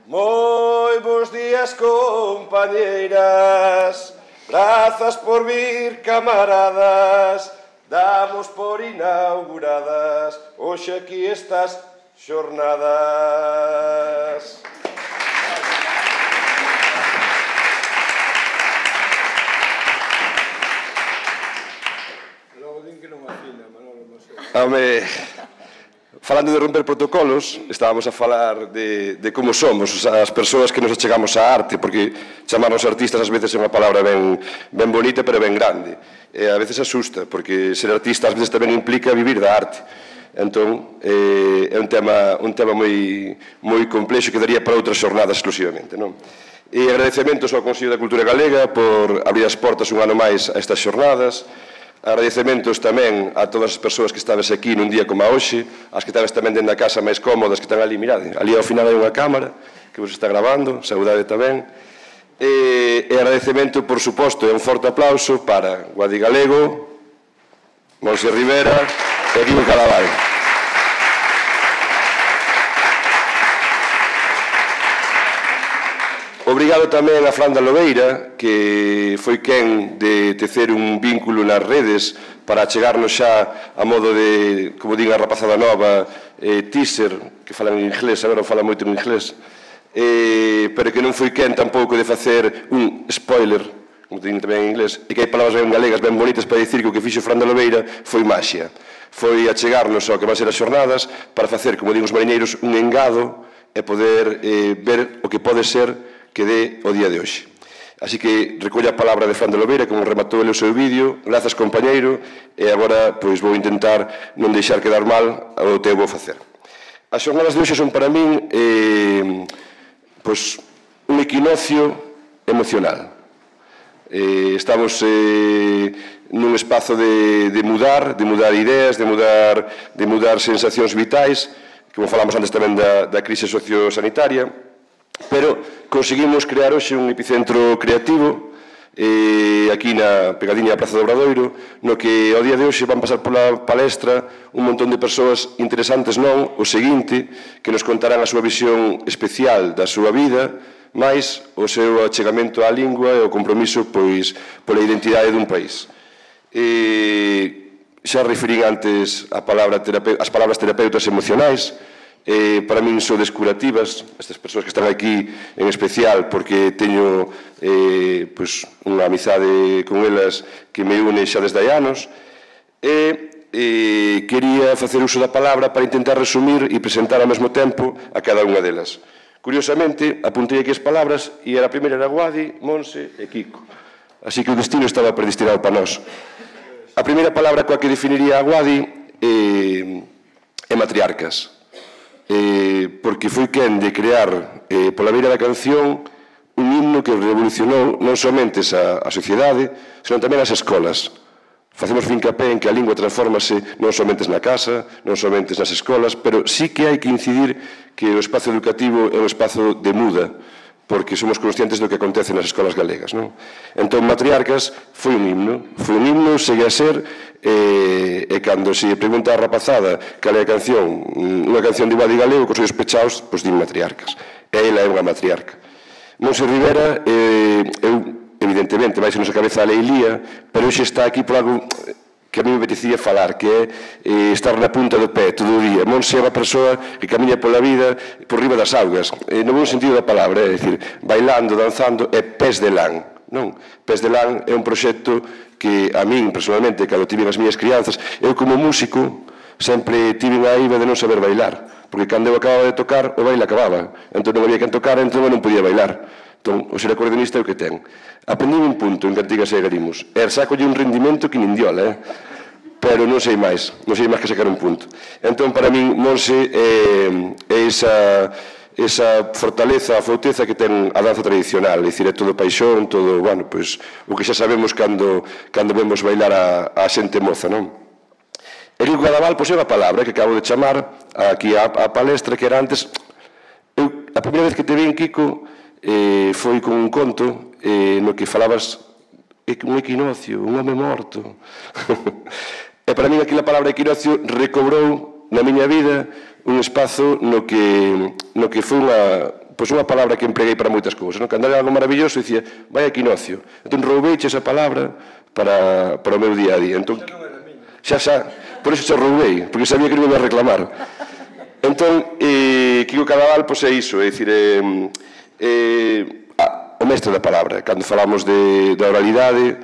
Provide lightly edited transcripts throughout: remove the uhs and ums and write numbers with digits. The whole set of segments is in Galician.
Moi bons días, compañeiras. Grazas por vir, camaradas. Damos por inauguradas hoxe aquí estas xornadas. Logo din que non afina, Manolo, non sei. Home, falando de romper protocolos, estábamos a falar de como somos as persoas que nos achegamos á arte, porque chamarnos artistas ás veces é unha palabra ben bonita, pero ben grande. E a veces asusta, porque ser artista ás veces tamén implica vivir da arte. Entón, é un tema moi complexo que daría para outras xornadas exclusivamente, non? E agradecementos ao Consello da Cultura Galega por abrir as portas un ano máis a estas xornadas. Agradecementos tamén a todas as persoas que estades aquí nun día como a hoxe, as que estades tamén dentro da casa máis cómodas, que están ali, mirade, ali ao final hai unha cámara que vos está grabando, saudade tamén. E agradecemento, por suposto, e un forte aplauso para Guadi Galego, Monse Rivera e Guido Cadaval. Obrigado tamén a Fran da Lobeira, que foi quen de tecer un vínculo nas redes para chegarnos xa a modo de, como diga a rapazada nova, teaser, que falan en inglés, agora fala moito en inglés, pero que non foi quen tampouco de facer un spoiler, como dicen tamén en inglés, e que hai palabras ben galegas, ben bonitas para dicir que o que fixo Fran da Lobeira foi maxia. Foi a chegarnos ao que van ser as xornadas para facer, como digo os mariñeiros, un engado e poder ver o que pode ser que dé o día de hoxe. Así que recolla a palabra de Fran de Lobeira, como rematou ele o seu vídeo. Grazas, compañeiro, e agora pois vou intentar non deixar quedar mal o que vou facer. As xornadas de hoxe son para min pois un equinoccio emocional. Estamos nun espazo de mudar ideas, de mudar sensacións vitais, como falamos antes tamén da crise sociosanitaria, pero conseguimos crear hoxe un epicentro creativo aquí na pegadiña da Praza do Obradoiro, no que ao día de hoxe van pasar pola palestra un montón de persoas interesantes, non? O seguinte, que nos contarán a súa visión especial da súa vida, máis o seu achegamento á lingua e o compromiso pois pola identidade dun país. Xa referín antes as palabras terapeutas emocionais. Para min son descurativas estas persoas que están aquí en especial, porque teño unha amizade con elas que me une xa desde hai anos, e quería facer uso da palabra para intentar resumir e presentar ao mesmo tempo a cada unha delas. Curiosamente, apuntei aquí as palabras e a primeira era Guadi, Monse e Kiko, así que o destino estaba predestinado para nós. A primeira palabra coa que definiría a Guadi é matriarcas, porque foi quen de crear pola beira da canción un himno que revolucionou non somente a sociedade, senón tamén as escolas. Facemos fincapé en que a lingua transfórmase non somente na casa, non somente nas escolas, pero sí que hai que incidir que o espazo educativo é un espazo de muda, porque somos conscientes do que acontece nas escolas galegas, non? Entón, Matriarcas foi un himno, segue a ser, e cando se pregunta a rapazada cal é a canción, unha canción de Guadi Galego, cos ollos pechados, pois din Matriarcas. E ela é unha matriarca. Monse Rivera, evidentemente, vai ser nosa cabeza a Leilía, pero hoxe está aquí por algo que a mí me apetecía falar, que é estar na punta do pé todo o día. Monse é unha persoa que camiña pola vida por riba das augas, no bon sentido da palabra, é dicir, bailando, danzando, é Pés de Lán, non? Pés de Lán é un proxecto que a min, personalmente, cando tiven as miñas crianzas, eu como músico sempre tiven a iva de non saber bailar, porque cando eu acababa de tocar, o baile acababa, entón non había quen tocar, entón eu non podía bailar. Entón, o ser acordeonista é o que ten. Aprendí un punto en Cantigas e Garimos, e sacolle un rendimento que nin diola, pero non sei máis que sacar un punto. Entón, para min, Monse é esa fortaleza, a fauteza que ten a danza tradicional, é dicir, é todo paixón, todo, bueno, pois, o que xa sabemos cando vemos bailar a xente moza, non? Erico Cadaval, pois é unha palabra que acabo de chamar aquí a palestra, que era antes, a primeira vez que te vin, Kiko, foi con un conto no que falabas un equinoccio, un home morto. E para min aquela palabra equinoccio recobrou na miña vida un espazo no que foi pois unha palabra que empleguei para moitas cousas, non? Cando era algo maravilloso, dicía, vai equinoccio. Entón, roubeiche esa palabra para o meu día a día. Entón, xa, por iso xa roubei, porque sabía que non iba a reclamar. Entón, Quico Cadaval, pois é iso, é dicir, o mestre da palabra. Cando falamos da oralidade,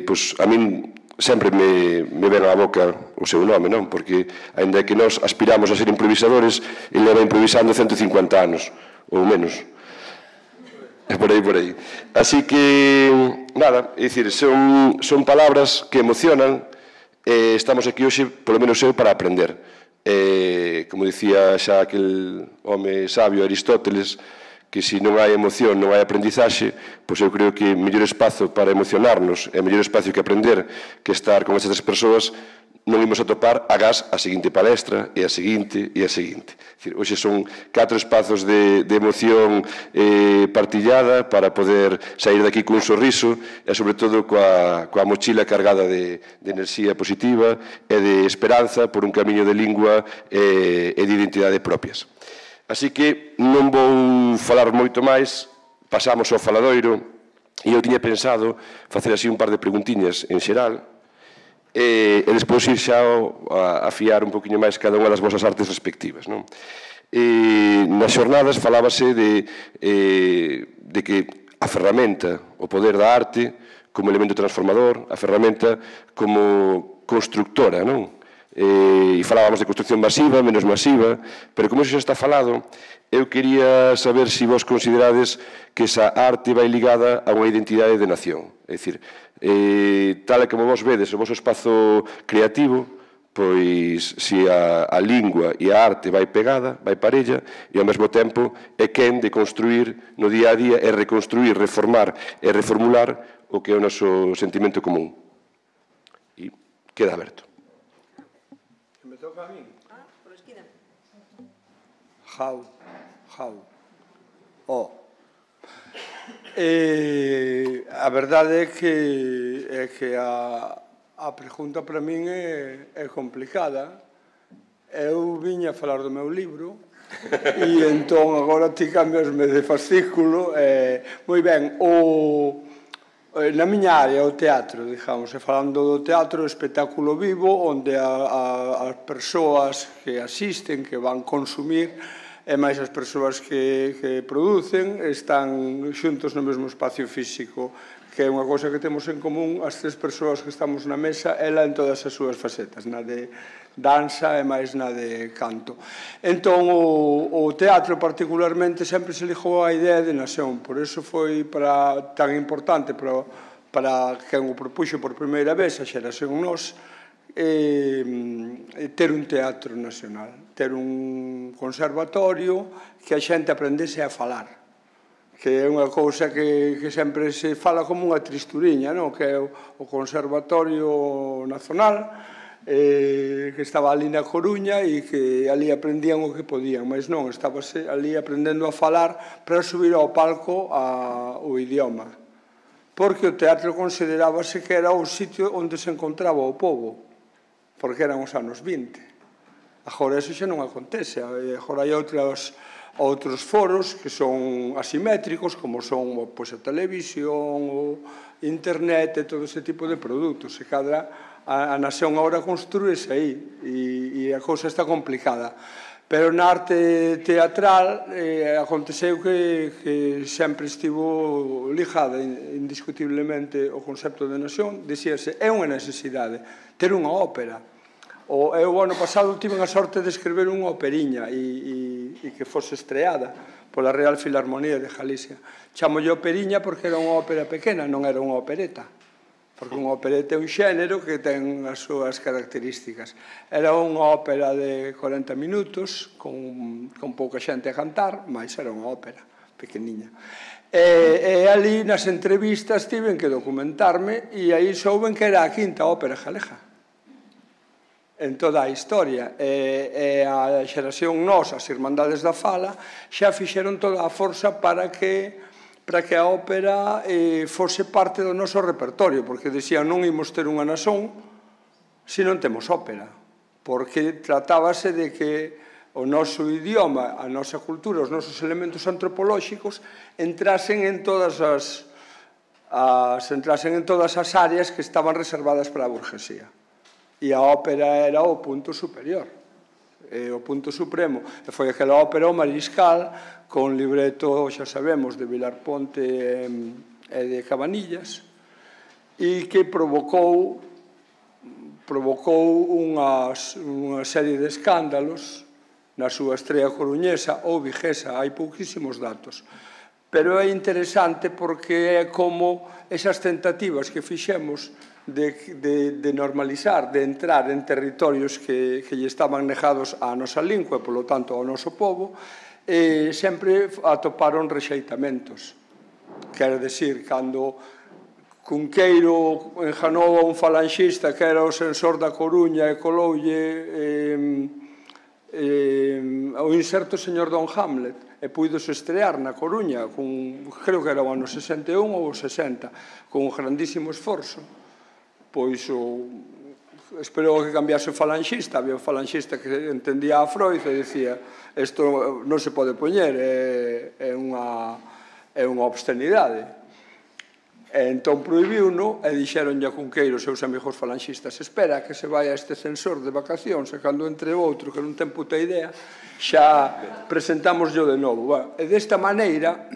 pois a min sempre me ven á boca o seu nome, non? Porque, ainda que nós aspiramos a ser improvisadores, ele leva improvisando 150 anos, ou menos. É por aí. Así que, nada, é dicir, son palabras que emocionan, e estamos aquí hoxe, polo menos eu, para aprender. Como dicía xa aquel home sabio Aristóteles, que se non hai emoción, non hai aprendizaxe, pois eu creo que o mellor espazo para emocionarnos e o mellor espazo que aprender que estar con estas persoas non imos atopar agás a seguinte palestra e a seguinte e a seguinte. Hoxe son 4 espazos de emoción partillada para poder sair daqui cun sorriso e, sobre todo, coa mochila cargada de enerxía positiva e de esperanza por un camiño de lingua e de identidade propias. Así que non vou falar moito máis, pasamos ao faladoiro, e eu tiña pensado facer así un par de preguntiñas en xeral, e despois ir xa a afiar un poquinho máis cada unha das vosas artes respectivas. Nas xornadas falábase de que a ferramenta, o poder da arte, como elemento transformador, a ferramenta como constructora, non? E falábamos de construcción masiva, menos masiva, pero como iso xa está falado, eu quería saber se vos considerades que esa arte vai ligada a unha identidade de nación. É dicir, tal e como vos vedes o vosso espazo creativo, pois se a lingua e a arte vai pegada, vai parella, e ao mesmo tempo é quen de construir no día a día e reconstruir, reformar e reformular o que é o noso sentimento común. E queda aberto. Toca a min? Por esquina. Jau. A verdade é que a pregunta para min é complicada. Eu viña a falar do meu libro e entón agora ti cambiasme de fascículo. Moi ben, na miña área, o teatro, digamos, e falando do teatro, o espectáculo vivo, onde as persoas que asisten, que van consumir, e máis as persoas que producen, están xuntos no mesmo espacio físico, que é unha cousa que temos en común as 3 persoas que estamos na mesa, ela en todas as súas facetas, na de danza e máis na de canto. Entón, o teatro particularmente sempre se ligou á idea de nación, por iso foi tan importante para quen o propuxo por primeira vez, a xeración Nós, ter un teatro nacional, ter un conservatorio que a xente aprendese a falar, que é unha cousa que sempre se fala como unha tristuriña, que é o Conservatorio Nacional, que estaba ali na Coruña e que ali aprendían o que podían, mas non, estábase ali aprendendo a falar para subir ao palco o idioma, porque o teatro considerábase que era o sitio onde se encontraba o povo, porque eran os anos 20. Agora eso xa non acontece, agora hai outros foros que son asimétricos, como son a televisión, o internet e todo ese tipo de produtos. A nación agora construíse aí e a cousa está complicada. Pero na arte teatral aconteceu que sempre estivo ligada indiscutiblemente o concepto de nación. Dicíase, é unha necesidade ter unha ópera. Eu, ano pasado, tive a sorte de escrever unha operiña e que fose estreada pola Real Filarmonía de Galicia. Chamolle operiña porque era unha ópera pequena, non era unha opereta, porque unha opereta é un xénero que ten as súas características. Era unha ópera de 40 minutos, con pouca xente a cantar, mas era unha ópera pequeniña. E ali, nas entrevistas, tiven que documentarme e aí souben que era a 5ª ópera galega en toda a historia. E a xeración Nós, as Irmandades da Fala, xa fixeron toda a forza para que a ópera fose parte do noso repertorio, porque dicían non imos ter unha nación se non temos ópera, porque tratábase de que o noso idioma, a nosa cultura, os nosos elementos antropolóxicos entrasen en todas as áreas que estaban reservadas para a burguesía. E a ópera era o punto superior, o punto supremo. E foi aquela ópera O Mariscal, con libreto, xa sabemos, de Vilar Ponte e de Cabanillas, e que provocou unha serie de escándalos na súa estrela coruñesa ou viguesa, hai pouquísimos datos. Pero é interesante porque é como esas tentativas que fixemos de normalizar, de entrar en territorios que lle estaban negados á nosa lingua e, polo tanto, ao noso povo, sempre atoparon rexeitamentos. Quero decir, cando Cunqueiro enjanou a un falanxista que era o censor da Coruña e coloulle o inserto Señor Don Hamlet e puidos estrear na Coruña, creo que era o ano 61 ou 60, con un grandísimo esforzo. Pois esperou que cambiase o falanxista, había un falanxista que entendía a Freud e dicía isto non se pode poñer, é unha obscenidade. E entón prohibiu-no e dixeronlle a Cunqueiro os seus amigos falanxistas: espera que se vai a este censor de vacacións e cando entre outro que non ten puta idea xa presentámoslo de novo. E desta maneira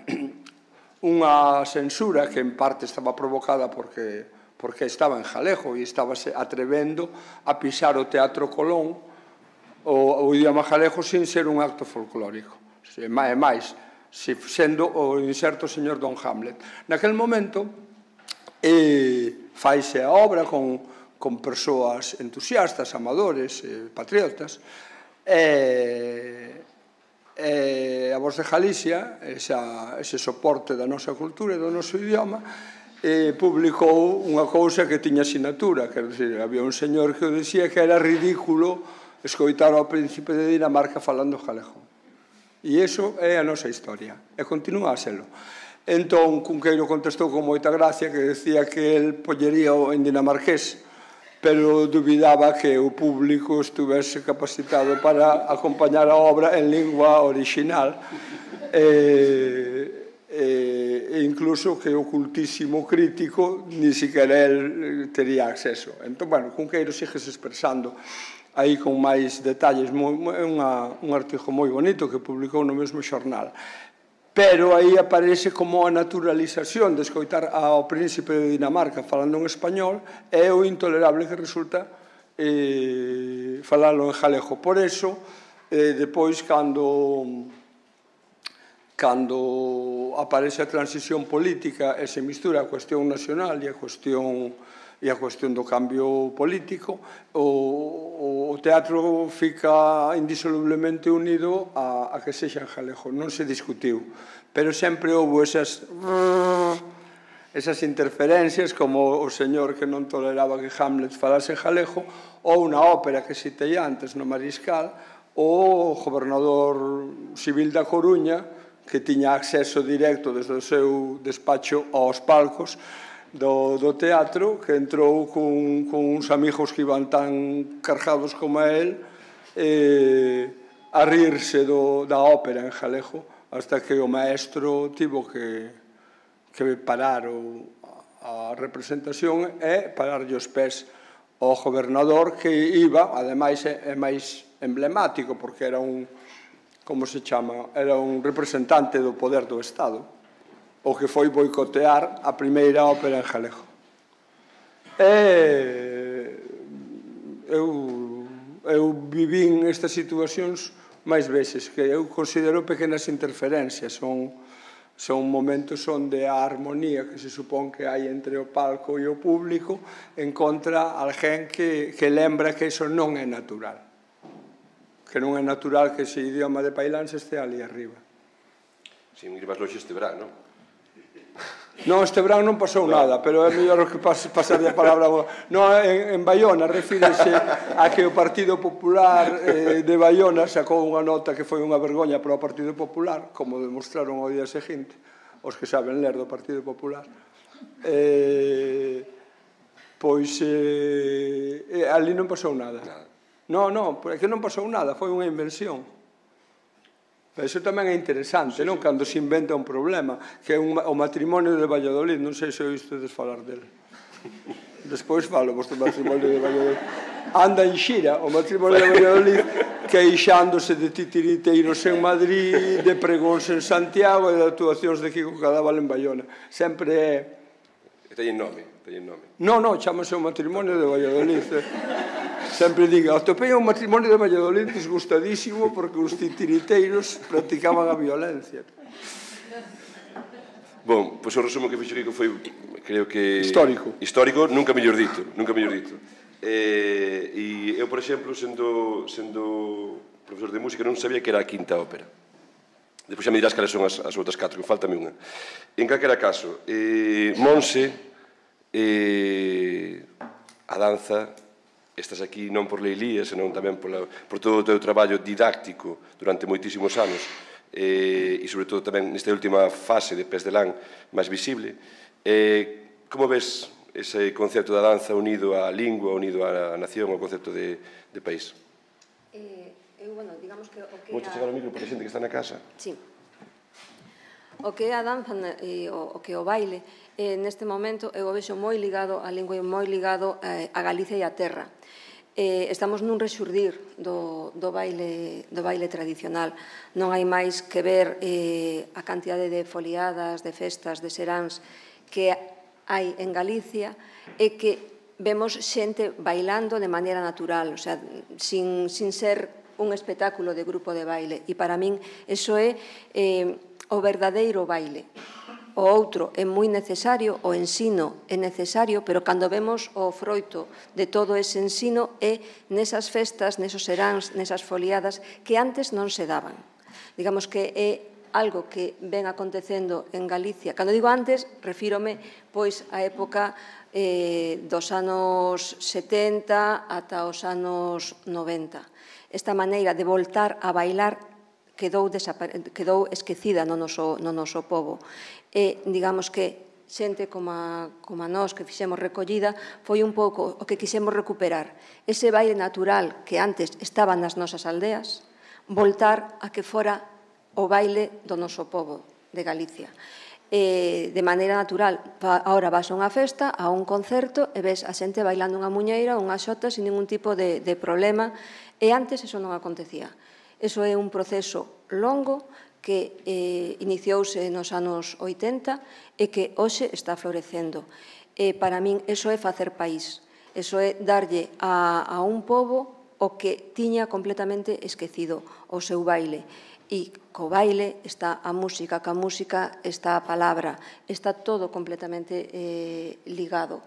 unha censura que en parte estaba provocada porque estaba en Jalejo e estaba atrevendo a pisar o Teatro Colón, o idioma galego, sin ser un acto folclórico. E máis, sendo o inserto Señor Don Hamlet. Naquel momento faise a obra con persoas entusiastas, amadores, patriotas, e a Voz de Galicia, ese soporte da nosa cultura e do noso idioma, publicou unha cousa que tiña sinatura, quer dizer, había un señor que dicía que era ridículo escoitar ao príncipe de Dinamarca falando galego. E iso é a nosa historia, e continúa a selo. Entón, Cunqueiro contestou con moita gracia que decía que el pollería en dinamarqués, pero dubidaba que o público estuvese capacitado para acompañar a obra en lingua orixinal, e incluso que o cultísimo crítico ni siquiera el tería acceso. Entón, bueno, Cunqueiro síguese expresando aí con máis detalles. É un artigo moi bonito que publicou no mesmo xornal. Pero aí aparece como a naturalización de escoitar ao príncipe de Dinamarca falando en español é o intolerable que resulta falalo en galego. Por eso, depois, cando aparece a transición política e se mistura a cuestión nacional e a cuestión do cambio político, o teatro fica indisolublemente unido a que sexa en galego. Non se discutiu, pero sempre houve esas interferencias, como o señor que non toleraba que Hamlet falase galego, ou na ópera que citei antes, no Mariscal, o gobernador civil da Coruña, que tiña acceso directo desde o seu despacho aos palcos do teatro, que entrou con uns amigos que iban tan cargados como a él a rirse da ópera en galego, hasta que o maestro tivo que parar a representación e pararlle os pés ao gobernador, que iba, ademais é máis emblemático porque era era un representante do poder do Estado, o que foi boicotear a primeira ópera en galego. Eu vivín estas situacións máis veces, que eu considero pequenas interferencias, son momentos onde a armonía que se supón que hai entre o palco e o público encontra alguén que lembra que iso non é natural, que non é natural que ese idioma de Pailans este ali arriba. Sin ir máis longe este verán, non? Non, este verán non pasou nada, pero é mellor que pasar a palabra. Non, en Baiona refírese a que o Partido Popular de Baiona sacou unha nota que foi unha vergoña para o Partido Popular, como demostraron ao día seguinte os que saben ler do Partido Popular. Pois ali non pasou nada. Non, é que non pasou nada, foi unha invención. Iso tamén é interesante, non? Cando se inventa un problema, que é o matrimonio de Valladolid, non sei se oístedes falar dele. Despois falo vos do matrimonio de Valladolid. Anda en xira o matrimonio de Valladolid, queixándose de titiriteiros en Madrid, de pregóns en Santiago e de actuacións de Kiko Cadaval en Bayona. Sempre é... Teñen nome, teñen nome. Non, chamase o matrimonio de Valladolid. Sempre diga, atopei un matrimonio de Valladolid disgustadísimo porque os titiriteiros practicaban a violencia. Bon, pois o resumo que fixo Kiko foi, creo que... Histórico. Histórico, nunca mellor dito, nunca mellor dito. E eu, por exemplo, sendo profesor de música, non sabía que era a quinta ópera. Depois xa me dirás cales son as outras 4, que faltame unha. En calquera caso, Monse, a danza, estás aquí non por leilía, senón tamén por todo o teu traballo didáctico durante moitísimos anos, e sobre todo tamén nesta última fase de Pés de Lán máis visible. Como ves ese concepto da danza unido á lingua, unido á nación, ao concepto de país? Bueno, digamos que o que Vou chegar ao micro para a xente que está na casa. Sí. O que é a danza e o que é o baile, neste momento eu o vexo moi ligado á lingua e moi ligado a Galicia e a terra. Estamos nun rexurdir do baile tradicional. Non hai máis que ver a cantidade de foliadas, de festas, de seráns que hai en Galicia e que vemos xente bailando de maneira natural, o sea, sin ser un espectáculo de grupo de baile. E para min, iso é o verdadeiro baile. O outro é moi necesario, o ensino é necesario, pero cando vemos o froito de todo ese ensino é nesas festas, nesos seráns, nesas foliadas que antes non se daban. Digamos que é algo que ven acontecendo en Galicia. Cando digo antes, refírome pois á época dos anos 70 ata os anos 90. Esta maneira de voltar a bailar quedou esquecida no noso pobo. E, digamos que, xente como a nós que fixemos recollida, foi un pouco o que quixemos recuperar. Ese baile natural que antes estaba nas nosas aldeas, voltar a que fora o baile do noso pobo de Galicia. De maneira natural, ahora vas a unha festa, a un concerto, e ves a xente bailando unha muñeira, unha xota, sin ningún tipo de problema, e antes eso non acontecía. Eso é un proceso longo que iniciouse nos anos 80 e que hoxe está florecendo. Para min, eso é facer país. Eso é darlle a un pobo o que tiña completamente esquecido, o seu baile. E co baile está a música, ca música está a palabra, está todo completamente ligado.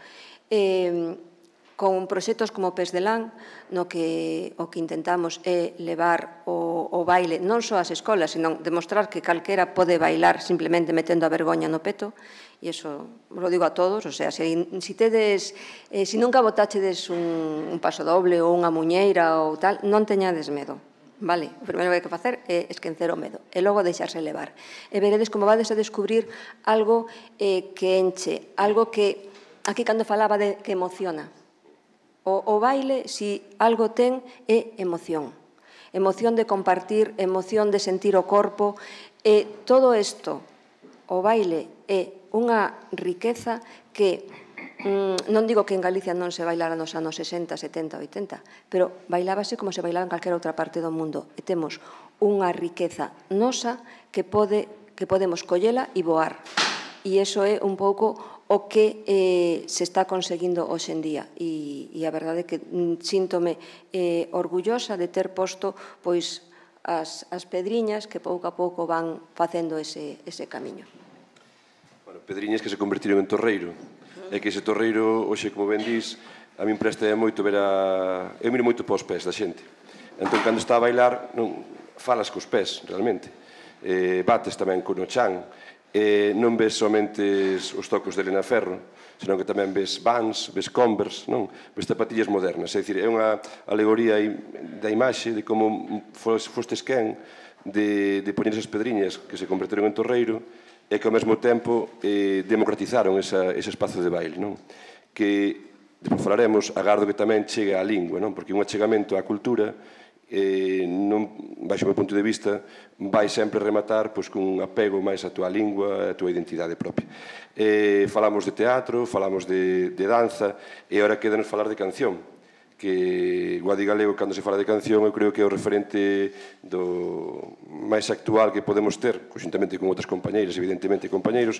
Con proxectos como Pés de Lán, no que o que intentamos é levar o baile non só ás escolas, senón demostrar que calquera pode bailar simplemente metendo a vergoña no peto, e iso lo digo a todos, o sea, se nunca botachedes un paso doble ou unha muñeira ou tal, non teñades medo. Vale, o primeiro que hai que facer é esquecer o medo e logo deixarse levar. E veredes como vades a descubrir algo que enche, algo que, aquí cando falaba de que emociona. O baile, si algo ten, é emoción. Emoción de compartir, emoción de sentir o corpo. E todo isto, o baile, é unha riqueza que non digo que en Galicia non se bailara nos anos 60, 70, 80, pero bailábase como se bailaba en calquera outra parte do mundo. E temos unha riqueza nosa que podemos collela e voar. E iso é un pouco o que se está conseguindo hoxe en día. E a verdade é que síntome orgullosa de ter posto pois as pedriñas que pouco a pouco van facendo ese camiño. Bueno, pedriñas que se convertiron en torreiro. É que ese torreiro, hoxe, como ben dís, a min presta moito ver a... Eu miro moito para os pés da xente. Entón, cando está a bailar, non falas cos pés, realmente. Bates tamén con o chan. Non ves somente os tocos de Elena Ferro, senón que tamén ves Vans, ves Converse, non? Ves zapatillas modernas. É dicir, é unha alegoría da imaxe de como fostes quen de poñer esas pedriñas que se converteron en torreiro e que ao mesmo tempo democratizaron ese espazo de baile, non? Que, depois falaremos, agardo que tamén chegue á lingua, non? Porque un achegamento á cultura baixo o meu punto de vista, vai sempre rematar con un apego máis á túa lingua, á túa identidade propia. Falamos de teatro, falamos de danza, e agora quédanos falar de canción, que Guadi Galego, cando se fala de canción, eu creo que é o referente máis actual que podemos ter, conjuntamente con outras compañeiras, evidentemente compañeiros,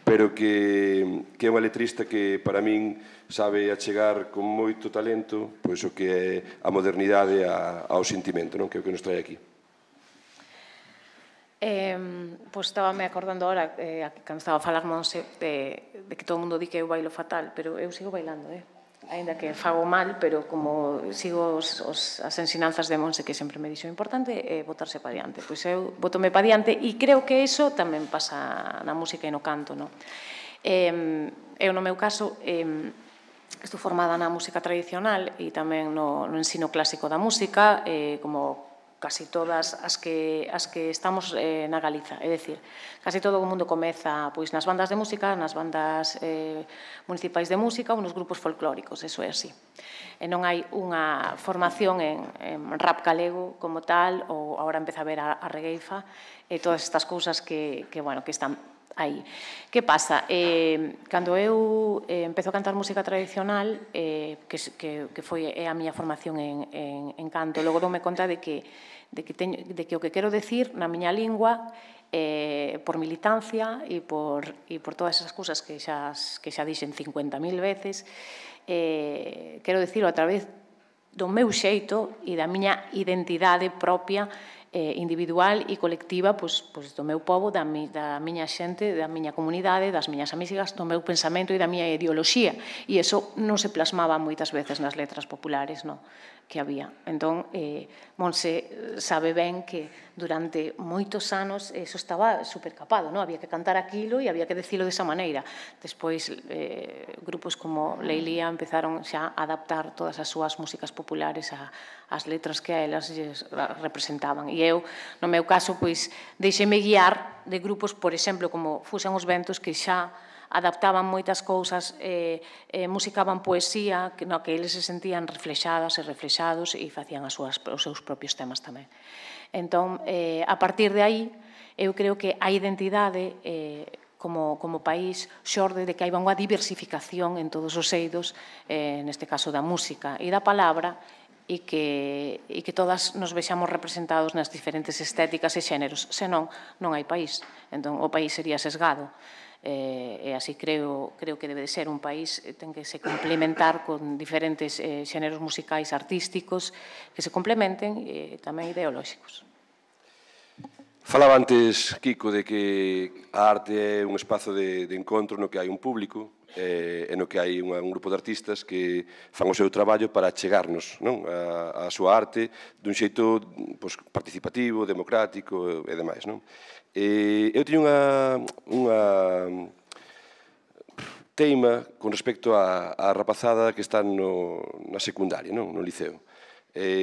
pero que é unha letrista que para min sabe achegar con moito talento pois o que é a modernidade ao sentimento, que é o que nos trae aquí. Pois estábame acordando ahora, cando estaba a falar Monse, de que todo o mundo di que eu bailo fatal, pero eu sigo bailando, ainda que fago mal, pero como sigo as ensinanzas de Monse, que sempre me dixo importante é botarse pa diante. Pois eu botome pa diante e creo que iso tamén pasa na música e no canto. Eu, no meu caso, estou formada na música tradicional e tamén no ensino clásico da música, como casi todas as que estamos na Galiza. É dicir, casi todo o mundo comeza nas bandas de música, nas bandas municipais de música ou nos grupos folclóricos, eso é así. E non hai unha formación en rap galego como tal, ou agora empeza a ver a regueifa, e todas estas cousas que están aí. Que pasa? Cando eu empezo a cantar música tradicional, que foi a miña formación en canto, logo doume conta de que o que quero decir na miña lingua, por militancia e por todas esas cousas que xa dixen 50.000 veces, quero dicirlo a través do meu xeito e da miña identidade propia, individual e colectiva do meu pobo, da miña xente, da miña comunidade, das miñas amigas, do meu pensamento e da miña ideoloxía. E iso non se plasmaba moitas veces nas letras populares que había. Entón, Monse sabe ben que durante moitos anos iso estaba supercapado, había que cantar aquilo e había que decilo desa maneira. Despois, grupos como Leilía empezaron xa a adaptar todas as súas músicas populares ás letras que a elas representaban. E eu, no meu caso, deixeme guiar de grupos, por exemplo, como Fusan os Ventos, que xa adaptaban moitas cousas, musicaban poesía, que eles se sentían reflexadas e reflexados e facían os seus propios temas tamén. Entón, a partir de aí, eu creo que a identidade como país xorde de que hai unha diversificación en todos os eidos, neste caso da música e da palabra, e que todas nos vexamos representados nas diferentes estéticas e xéneros. Senón, non hai país. Entón, o país sería sesgado. E así creo que debe de ser un país, ten que se complementar con diferentes xéneros musicais artísticos que se complementen e tamén ideolóxicos. Falaba antes, Kiko, de que a arte é un espazo de encontro no que hai un público e no que hai un grupo de artistas que fan o seu traballo para achegarnos a súa arte dun xeito participativo, democrático e demais. Eu teño unha teima con respecto á rapazada que está na secundaria, no liceo.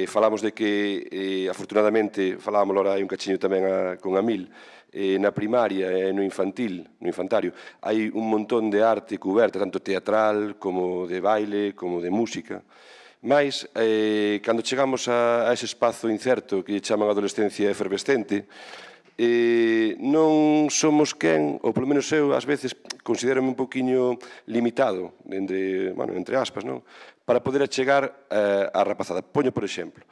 Falamos de que, afortunadamente, falábamos ahora hai un cachiño tamén con Amil, na primaria e no infantario, hai un montón de arte cuberta, tanto teatral como de baile, como de música. Mais, cando chegamos a ese espazo incerto que chaman adolescencia efervescente, non somos quen, ou polo menos eu, ás veces, considérame un poquinho limitado, entre aspas, para poder achegar á rapazada. Poño, por exemplo,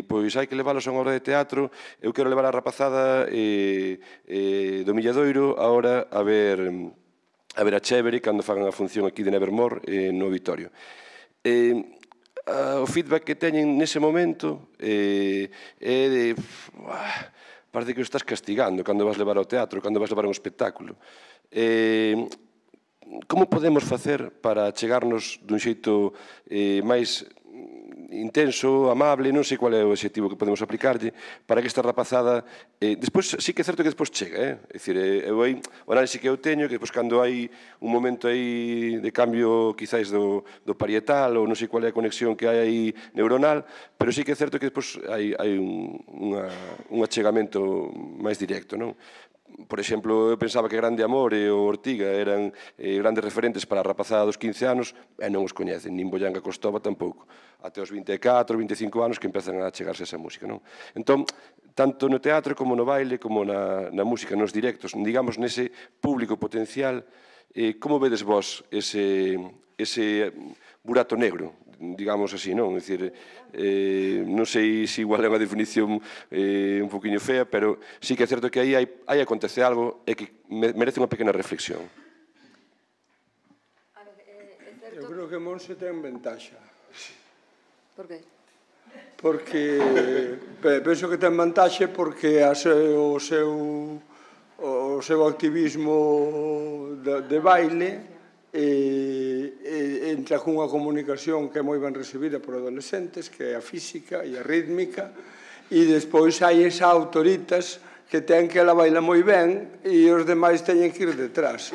pois hai que leválos a unha obra de teatro, eu quero levar a rapazada do Milladoiro agora a ver a Chévere cando fagan a función aquí de Nevermore no Vitorio. O feedback que teñen nese momento é de... parece que o estás castigando cando vas levar ao teatro, cando vas levar a un espectáculo. Como podemos facer para chegarnos dun xeito máis intenso, amable, non sei qual é o objetivo que podemos aplicarlle, para que esta rapazada... Despois, sí que é certo que despois chega, é dicir, o análise que eu teño, que despois cando hai un momento aí de cambio, quizáis, do parietal, ou non sei qual é a conexión que hai aí neuronal, pero sí que é certo que despois hai un achegamento máis directo, non? por exemplo, eu pensaba que Grande Amor e o Ortiga eran grandes referentes para a rapazada dos 15 anos e non os coñecen, nin Boyanga Costova tampouco. Até os 24, 25 anos que empezan a chegarse a esa música, non? Entón, tanto no teatro como no baile, como na música, nos directos, digamos, nese público potencial, como vedes vos ese burato negro, digamos así, non? É dicir, non sei se igual é unha definición un poquinho fea, pero sí que é certo que aí acontece algo e que merece unha pequena reflexión. Eu creo que Monse ten ventaxa. Por qué? Porque penso que ten vantaxe porque o seu activismo de baile entra cunha comunicación que é moi ben recibida por adolescentes, que é a física e a rítmica, e despois hai esa autoritas que ten que ela baila moi ben e os demais teñen que ir detrás.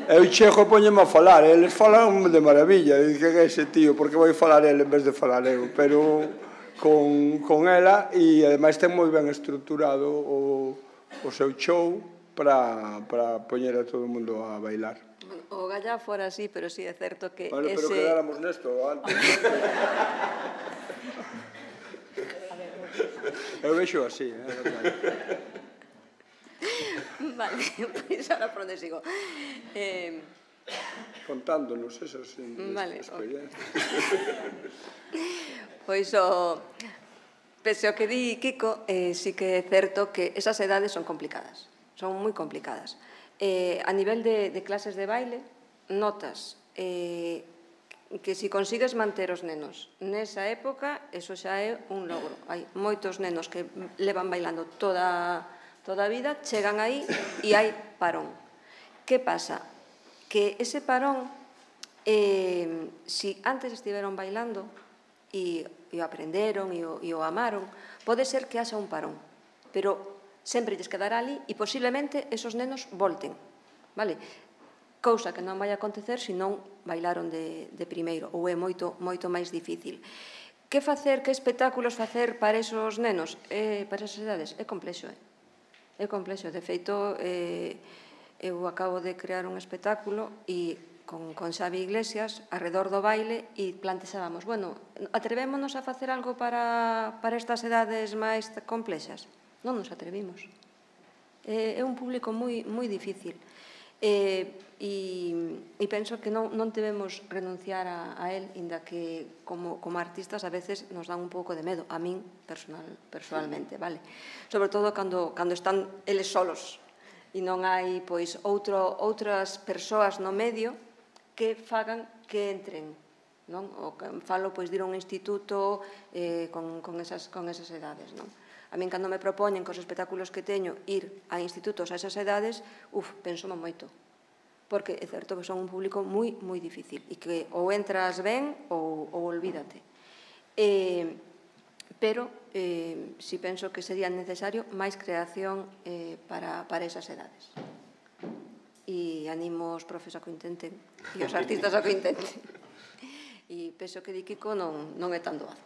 Eu chego e poñeme a falar, eles falan de maravilla, e que é ese tío, porque vai falar ele en vez de falar eu, pero con ela, e ademais ten moi ben estruturado o seu show para poñer a todo o mundo a bailar. O Gallá fora así, pero sí é certo que Bueno, pero quedáramos nesto antes. Eu vexo así, Vale, pois ahora por onde sigo. Contándonos esas experiencias. Pois pese ao que di Kiko, sí que é certo que esas edades son complicadas, son moi complicadas. A nivel de clases de baile, notas que se consigues manter os nenos nesa época, eso xa é un logro. Hai moitos nenos que levan bailando toda a vida, chegan aí e hai parón. Que pasa? Que ese parón, si antes estiveron bailando e o aprenderon e o amaron, pode ser que haxa un parón, pero sempre lles quedará ali e posiblemente esos nenos volten, vale? Cousa que non vai acontecer se non bailaron de primeiro, ou é moito máis difícil. Que facer, que espectáculos facer para esos nenos, para esas edades? É complexo, é complexo. De feito, eu acabo de crear un espectáculo e con Xavi Iglesias arredor do baile e plantexábamos, bueno, atrevémonos a facer algo para estas edades máis complexas? Non nos atrevimos. É un público moi difícil. E penso que non debemos renunciar a él, inda que como artistas a veces nos dan un pouco de medo, a min personalmente, vale? Sobre todo cando están eles solos e non hai outras persoas no medio que fagan que entren, non? Falo de ir a un instituto con esas edades, non? A min, cando me propoñen cos espectáculos que teño ir a institutos a esas edades, penso moito. Porque é certo que son un público moi difícil e que ou entras ben ou olvídate. Pero si penso que sería necesario máis creación para esas edades. E animo os profes a que o intenten e os artistas a que o intenten. E penso que di Kiko non é tan doado.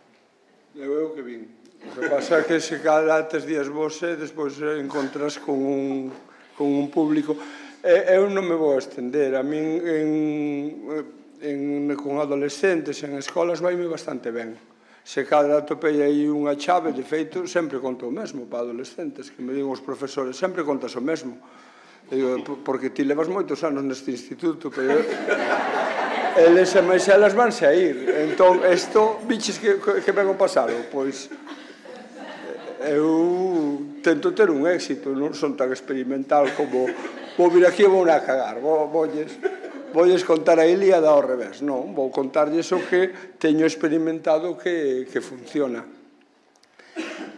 Eu que vin. O que pasa é que se cada 3 días vose, despois encontras con un público. Eu non me vou estender. A min con adolescentes en escolas vaime bastante ben. Se cada atopei aí unha chave, de feito, sempre conto o mesmo para adolescentes, que me digo os profesores, sempre contas o mesmo. Porque ti levas moitos anos neste instituto, pero eles e máis elas vanse a ir. Entón, isto, biches que vengo pasado, pois eu tento ter un éxito, non son tan experimental como vou vir aquí e vou a cagar, voulles contar a Ilíada ao revés, non, vou contarlles o que teño experimentado que funciona.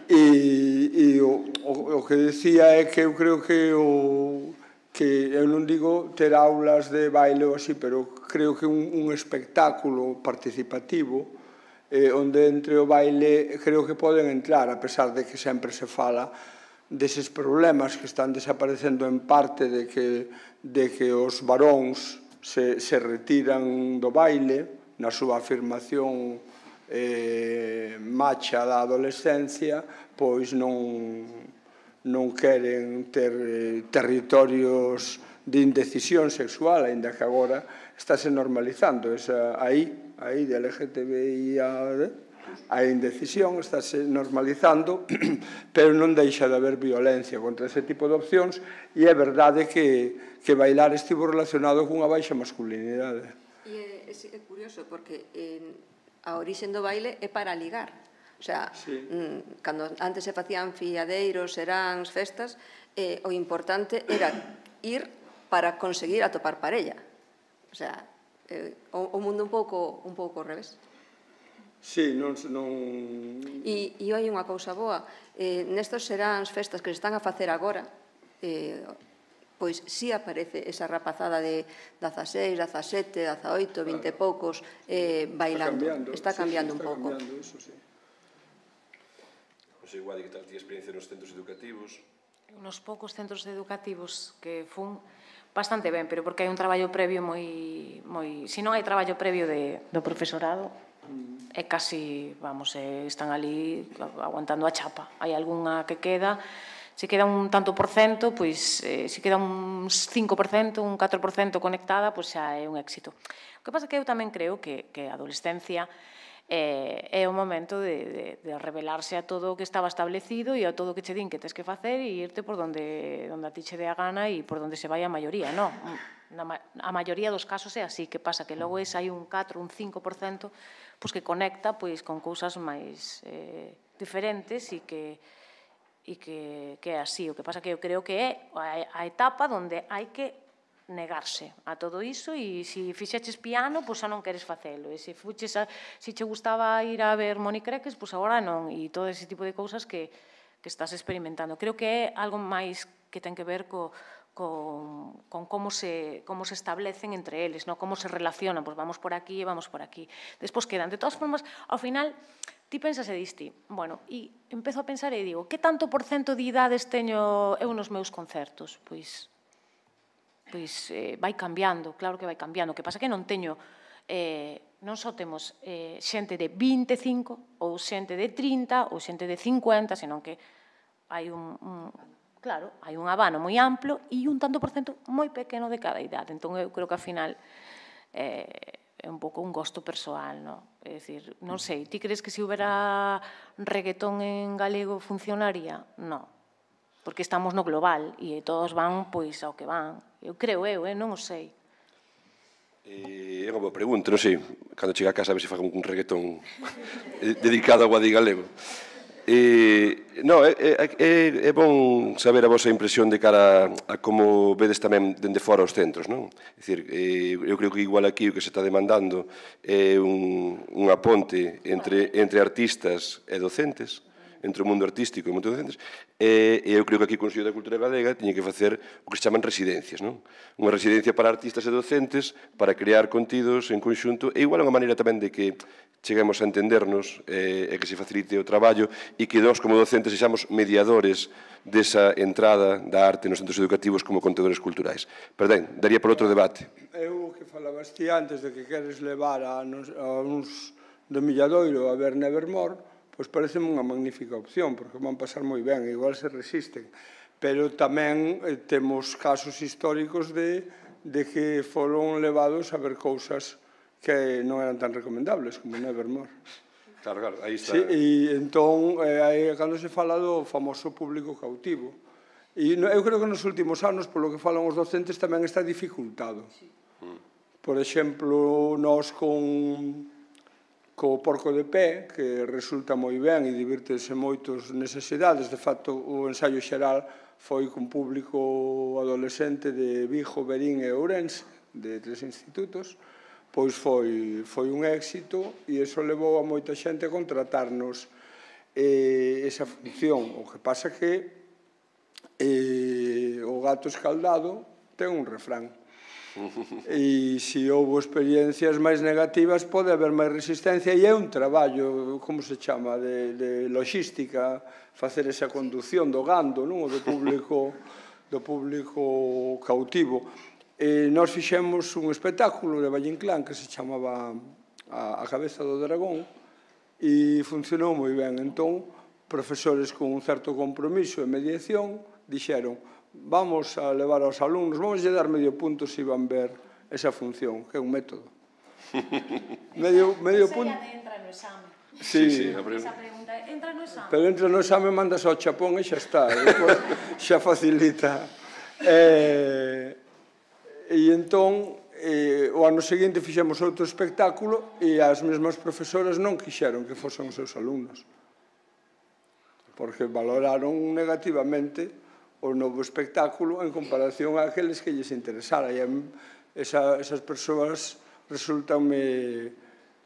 E o que decía é que eu creo que eu non digo ter aulas de baile ou así, pero creo que un espectáculo participativo onde entre o baile creo que poden entrar, a pesar de que sempre se fala deses problemas que están desaparecendo en parte de que os varóns se retiran do baile na súa afirmación macha da adolescencia, pois non non queren ter territorios de indecisión sexual, aínda que agora estáse normalizando aí de LGTBI a indecisión estáse normalizando, pero non deixa de haber violencia contra ese tipo de opcións, e é verdade que bailar estivo relacionado cunha baixa masculinidade. E é curioso, porque a orixen do baile é para ligar. O sea, cando antes se facían fiadeiros, seráns, festas, o importante era ir para conseguir atopar parella. O sea, o mundo un pouco ao revés. Sí, non... E hai unha cousa boa. Nestos seráns, festas que se están a facer agora, pois sí aparece esa rapazada de 16, 17, 18, 20 e poucos bailando. Está cambiando un pouco. Non sei, Guadi, que tal ti experiencia nos centros educativos? Nos poucos centros educativos que fun bastante ben, pero porque hai un traballo previo moi... Se non hai traballo previo do profesorado, é casi, vamos, están ali aguantando a chapa. Hai algunha que queda, se queda un tanto por cento, pois se queda un 5%, un 4% conectada, pois xa é un éxito. O que pasa é que eu tamén creo que a adolescencia é o momento de revelarse a todo o que estaba establecido e a todo o que che din que tes que facer e irte por donde a ti che dé a gana e por donde se vai a maioría, non? A maioría dos casos é así, que pasa que logo hai un 4, un 5% que conecta con cousas máis diferentes e que é así. O que pasa que eu creo que é a etapa onde hai que negarse a todo iso e se fixeches piano, pois xa non queres facelo, e se che gustaba ir a ver Monicreques, pois agora non, e todo ese tipo de cousas que estás experimentando. Creo que é algo máis que ten que ver con como se establecen entre eles, como se relacionan, pois vamos por aquí e vamos por aquí. Despois quedan. De todas formas, ao final, ti pensas e diste, bueno, e empezo a pensar e digo, que tanto por cento de idades teño eu nos meus concertos? Pois vai cambiando, claro que vai cambiando. O que pasa é que non teño, non só temos xente de 25 ou xente de 30 ou xente de 50, senón que hai claro, hai un abano moi amplo e un tanto por cento moi pequeno de cada idade. Entón, eu creo que, ao final, é un pouco un gosto persoal, non? É dicir, non sei, ti crees que se houbera reggaetón en galego funcionaría? Non. Porque estamos no global e todos van pois ao que van. Eu creo, non o sei. É unha boa pregunta, non sei, cando chega a casa a ver se faga un reggaetón dedicado ao Guadi galego. Non, é bon saber a vosa impresión de cara a como vedes tamén dende fora os centros, non? É dicir, eu creo que igual aquí o que se está demandando é unha ponte entre artistas e docentes, entre o mundo artístico e o mundo docentes, e eu creo que aquí o Consello da Cultura Galega tiña que facer o que se chaman residencias, non? Unha residencia para artistas e docentes para crear contidos en conxunto, e igual é unha maneira tamén de que cheguemos a entendernos e que se facilite o traballo e que nós como docentes sexamos mediadores desa entrada da arte nos centros educativos como contadores culturais. Pero ben, daría por outro debate. Eu que falabas ti antes de que queres levar a uns do Milladoiro a ver Nevermore, pois pareceme unha magnífica opción, porque van pasar moi ben, igual se resisten. Pero tamén temos casos históricos de que foron levados a ver cousas que non eran tan recomendables como Nevermore. Claro, aí está. E entón, cando se fala do famoso público cautivo, e eu creo que nos últimos anos, polo que falan os docentes, tamén está dificultado. Por exemplo, nós co Porco de Pé, que resulta moi ben e divirtese moitos nesas idades. De facto, o ensaio xeral foi con público adolescente de Vigo, Verín e Ourense, de 3 institutos, pois foi un éxito e iso levou a moita xente a contratarnos esa función. O que pasa que o gato escaldado ten un refrán. E se houve experiencias máis negativas pode haber máis resistencia e é un traballo, como se chama, de logística, facer esa conducción do gando, non? Do público cautivo. Nós fixemos un espectáculo de Valle Inclán que se chamaba A cabeza do dragón e funcionou moi ben. Entón, profesores con un certo compromiso e mediación dixeron vamos a levar aos alumnos, vamos a dar medio punto se van ver esa función, que é un método. Medio punto. Esa ya entra no exame. Sí, esa pregunta, entra no exame. Pero entra no exame, mandas ao chapón e xa está, xa facilita. E entón, o ano seguinte fixemos outro espectáculo e as mesmas profesoras non quixeron que fosen os seus alumnos, porque valoraron negativamente o novo espectáculo en comparación a aqueles que lles interesara, e esas persoas resultanme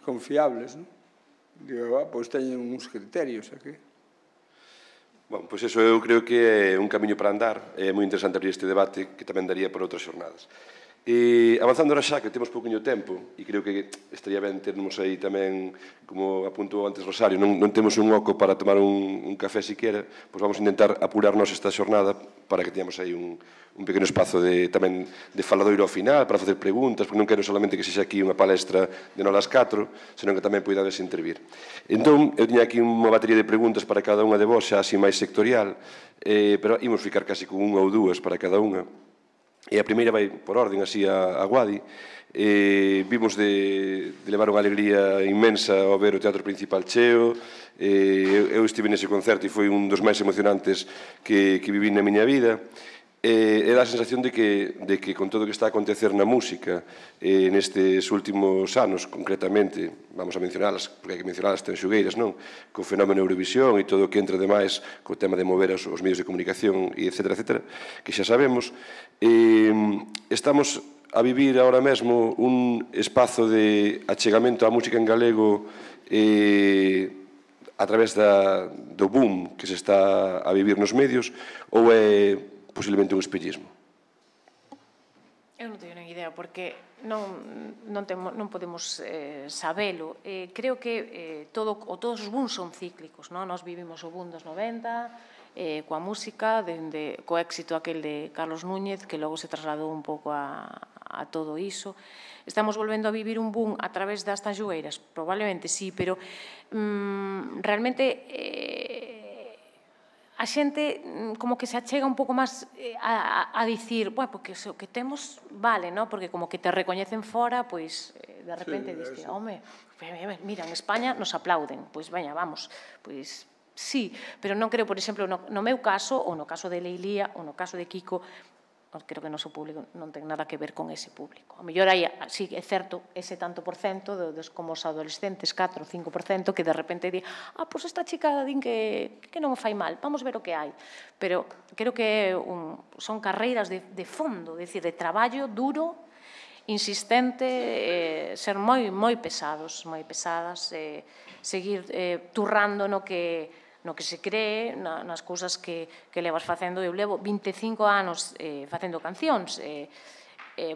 confiables, non? Digo, pois teñen uns criterios aquí. Bom, pois eso eu creo que é un camiño para andar. É moi interesante abrir este debate que tamén daría por outras xornadas. E avanzando ahora xa, que temos pouquinho tempo, e creo que estaría ben termos aí tamén, como apuntou antes Rosario, non temos un oco para tomar un café siquiera, pois vamos a intentar apurarnos esta xornada para que teñamos aí un pequeno espazo tamén de faladoiro ao final, para facer preguntas, porque non quero solamente que sexa aquí unha palestra de nolas 4, senón que tamén poidades intervir. Entón, eu tiña aquí unha batería de preguntas para cada unha de vos, xa así máis sectorial, pero imos ficar casi con unha ou dúas para cada unha. E a primeira vai por orden, así, a Guadi. Vimos de levar unha alegría inmensa ao ver o Teatro Principal cheo. Eu estive nese concerto e foi un dos máis emocionantes que viví na miña vida. E dá a sensación de que con todo o que está a acontecer na música nestes últimos anos, concretamente, vamos a mencionalas, porque hai que mencionalas tanxugueiras, non? Co fenómeno Eurovisión e todo o que entra demais co tema de mover os medios de comunicación, e etcétera, etcétera, que xa sabemos. Estamos a vivir ahora mesmo un espazo de achegamento á música en galego a través do boom que se está a vivir nos medios, ou é posiblemente un espellismo? Eu non teño nen idea, porque non podemos sabelo. Creo que todos os booms son cíclicos, non? Nós vivimos o boom dos 90, coa música, co éxito aquel de Carlos Núñez, que logo se trasladou un pouco a todo iso. Estamos volvendo a vivir un boom a través das tanxugueiras? Probablemente sí, pero realmente a xente como que se achega un pouco máis a dicir, bueno, porque o que temos vale, non? Porque como que te recoñecen fora, pois de repente diste, home, mira, en España nos aplauden, pois veña, vamos, pois sí, pero non creo, por exemplo, no meu caso, ou no caso de Leilía, ou no caso de Kiko, creo que o noso público non ten nada que ver con ese público. A mellor hai, sí, é certo, ese tanto por cento como os adolescentes, 4 ou 5%, que de repente di, pois esta chica din que non o fai mal, vamos ver o que hai. Pero creo que son carreiras de fondo, é dicir, de traballo duro, insistente, ser moi pesadas, seguir turrando no que se cree, nas cousas que levas facendo. Eu levo 25 anos facendo cancións,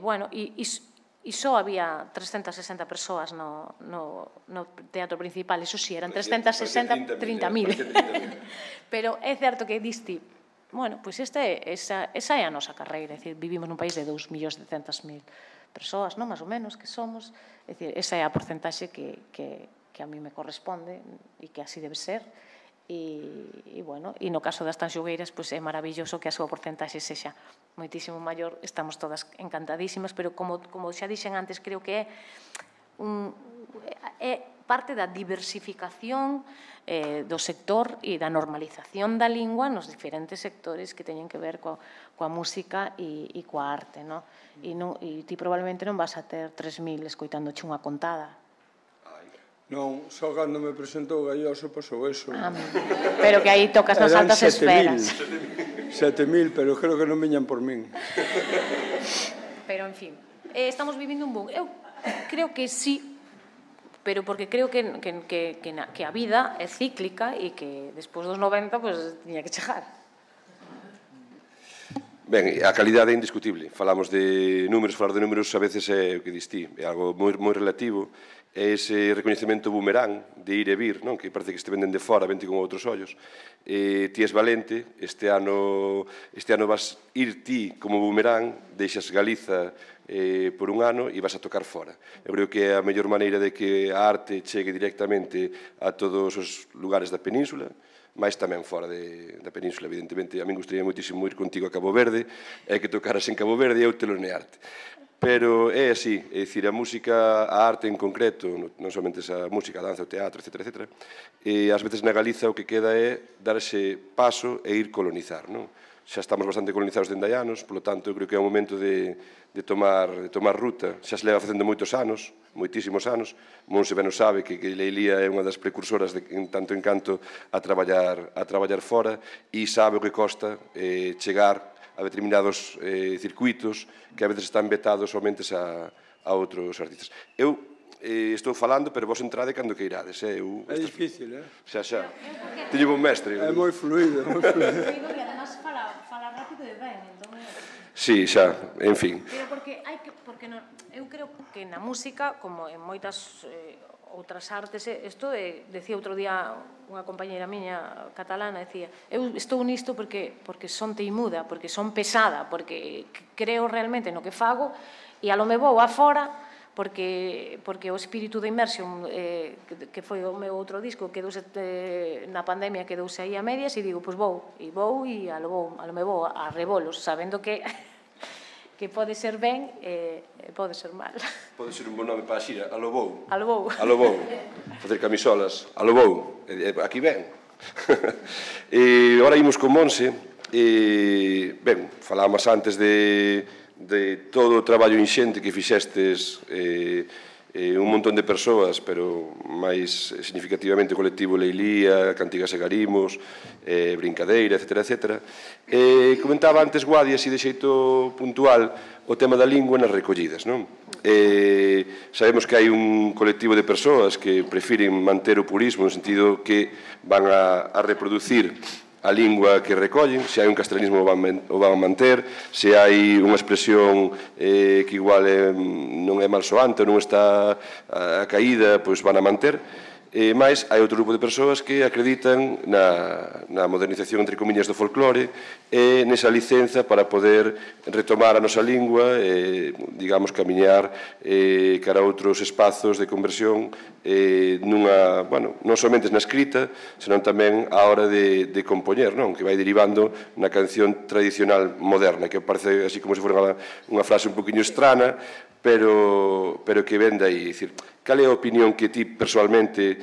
bueno, e só había 360 persoas no Teatro Principal, iso sí, eran 360, 30.000. Pero é certo que diste, bueno, pois esa é a nosa carreira, é dicir, vivimos nun país de 2.200.000 persoas, non, máis ou menos, que somos, é dicir, esa é a porcentaxe que a mí me corresponde e que así debe ser. E, bueno, e no caso das tanxugueiras, pois é maravilloso que a súa porcentaxe sexa moitísimo maior, estamos todas encantadísimas, pero como xa dixen antes, creo que é parte da diversificación do sector e da normalización da lingua nos diferentes sectores que teñen que ver coa música e coa arte, non? E ti probablemente non vas a ter 3.000 escoitándoche unha contada. Non, só cando me presentou Galloso pasou eso. Pero que aí tocas nas altas esferas. 7.000, pero creo que non viñan por min. Pero, en fin, estamos vivindo un boom. Eu creo que sí, pero porque creo que a vida é cíclica e que despois dos 90, pois, tiña que chegar. Ben, a calidade é indiscutible. Falamos de números, falar de números a veces é o que distí, é algo moi relativo. É ese recoñecemento boomerang de ir e vir, non? Que parece que este venden de fora, vente con outros ollos. Ti és valente, este ano vas ir ti como boomerang, deixas Galiza por un ano e vas a tocar fora. Eu creo que é a mellor maneira de que a arte chegue directamente a todos os lugares da península, máis tamén fora da península, evidentemente. A min gustaría moitísimo ir contigo a Cabo Verde, e que tocaras en Cabo Verde e eu telonearte. Pero é así, é dicir, a música, a arte en concreto, non somente a música, a danza, o teatro, etc., etc., e ás veces na Galiza o que queda é dar ese paso e ir colonizar, non? Xa estamos bastante colonizados dende hai anos, polo tanto, eu creo que é o momento de tomar ruta. Xa se leva facendo moitos anos, moitísimos anos. Monse ben o sabe que Leilía é unha das precursoras en tanto en canto a traballar fora, e sabe o que costa chegar a determinados circuitos que a veces están vetados somente a outros artistas. Eu estou falando, pero vos entrade cando que irades. É difícil, Xa. Teño un mestre. É moi fluido, moi fluido. E además fala rápido e ben, entón... Sí, xa, en fin. Pero porque eu creo que na música, como en moitas outras artes, isto decía outro día unha compañeira miña catalana, decía, eu estou nisto porque son teimuda, porque son pesada, porque creo realmente no que fago, e a lo me vou afora, porque o espírito de Immersion, que foi o meu outro disco, quedouse na pandemia, quedouse aí a medias, e digo, pois vou, e a lo me vou a rebolos, sabendo que pode ser ben e pode ser mal. Pode ser un bon nome para a xira, a lo vou. A lo vou. A lo vou. Facer camisolas, a lo vou. Aquí ven. E ora imos con Monse. Ben, falábamos antes de todo o traballo inxente que fixestes un montón de persoas, pero máis significativamente o colectivo Leilía, Cantigas e Garimos, Brincadeira, etc. Comentaba antes Guadi, así de xeito puntual, o tema da lingua nas recollidas, non? Sabemos que hai un colectivo de persoas que prefiren manter o purismo no sentido que van a reproducir a lingua que recollen, se hai un castellanismo o van a manter, se hai unha expresión que igual non é malsoante ou non está a caída, pois van a manter. Mais hai outro grupo de persoas que acreditan na modernización, entre comillas, do folclore e nesa licenza para poder retomar a nosa lingua e, digamos, camiñar cara a outros espazos de conversión non somente na escrita, senón tamén a hora de compoñer, non? Que vai derivando na canción tradicional moderna, que parece así como se fora unha frase un poquinho estrana, pero que ven de aí. Cal é a opinión que ti persoalmente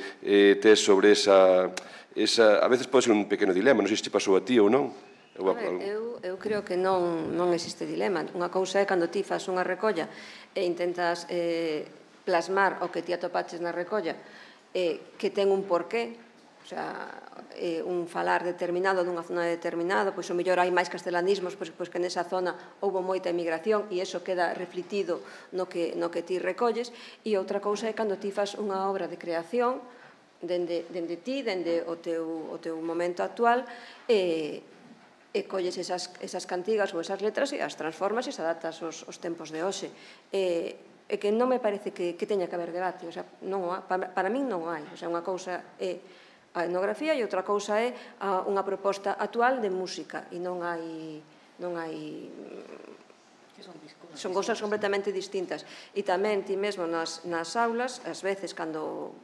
tes sobre esa... A veces pode ser un pequeno dilema, non sei se te pasou a ti ou non. Eu creo que non existe dilema. Unha cousa é cando ti fas unha recolla e intentas plasmar o que ti atopaches na recolla que ten un porqué, o sea, un falar determinado dunha zona determinada, pois o mellor hai máis castelanismos, pois que nesa zona houve moita emigración e iso queda refletido no que ti recolles, e outra cousa é cando ti fas unha obra de creación dende ti, dende o teu momento actual, e colles esas cantigas ou esas letras e as transformas e se adaptas aos tempos de hoxe. É que non me parece que teña que haber debate, o sea, para min non hai, o sea, unha cousa é a etnografía e outra cousa é unha proposta actual de música e non hai son cousas completamente distintas e tamén ti mesmo nas aulas ás veces cando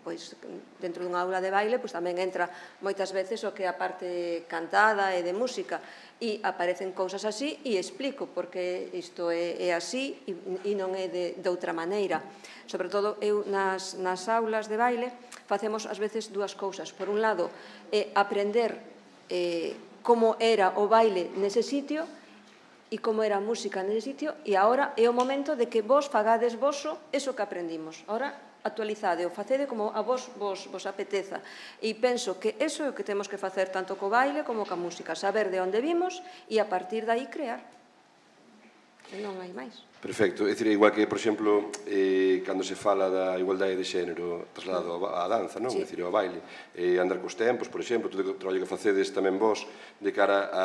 dentro dunha aula de baile tamén entra moitas veces o que é a parte cantada e de música e aparecen cousas así e explico porque isto é así e non é de outra maneira. Sobre todo eu nas aulas de baile facemos ás veces dúas cousas. Por un lado, aprender como era o baile nese sitio e como era a música nese sitio e agora é o momento de que vos fagades voso eso que aprendimos. Agora, actualizade ou facede como a vos apeteza. E penso que eso é o que temos que facer tanto co baile como ca música. Saber de onde vimos e a partir de aí crear. E non hai máis. Perfecto, é dicir, igual que, por exemplo, cando se fala da igualdade de xénero trasladado á danza, non? É dicir, ao baile, andar cos tempos, por exemplo, todo o traballo que facedes tamén vos de cara a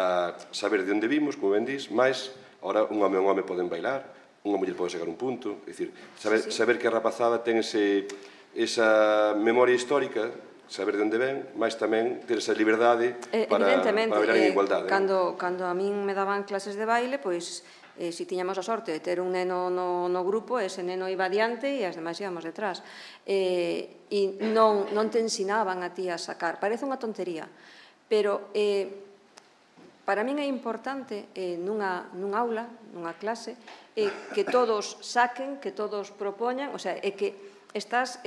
saber de onde vimos, como ben dís, máis, ahora un home poden bailar, unha muller pode chegar un punto, é dicir, saber que a rapazada ten esa memoria histórica, saber de onde ven, máis tamén ter esa liberdade para bailar en igualdade. Cando a min me daban clases de baile, pois se tiñamos a sorte de ter un neno no grupo, ese neno iba adiante e as demais íbamos detrás. E non te ensinaban a ti a sacar. Parece unha tontería, Pero para min é importante nunha aula, nunha clase, que todos saquen, que todos propoñan, o sea, é que estás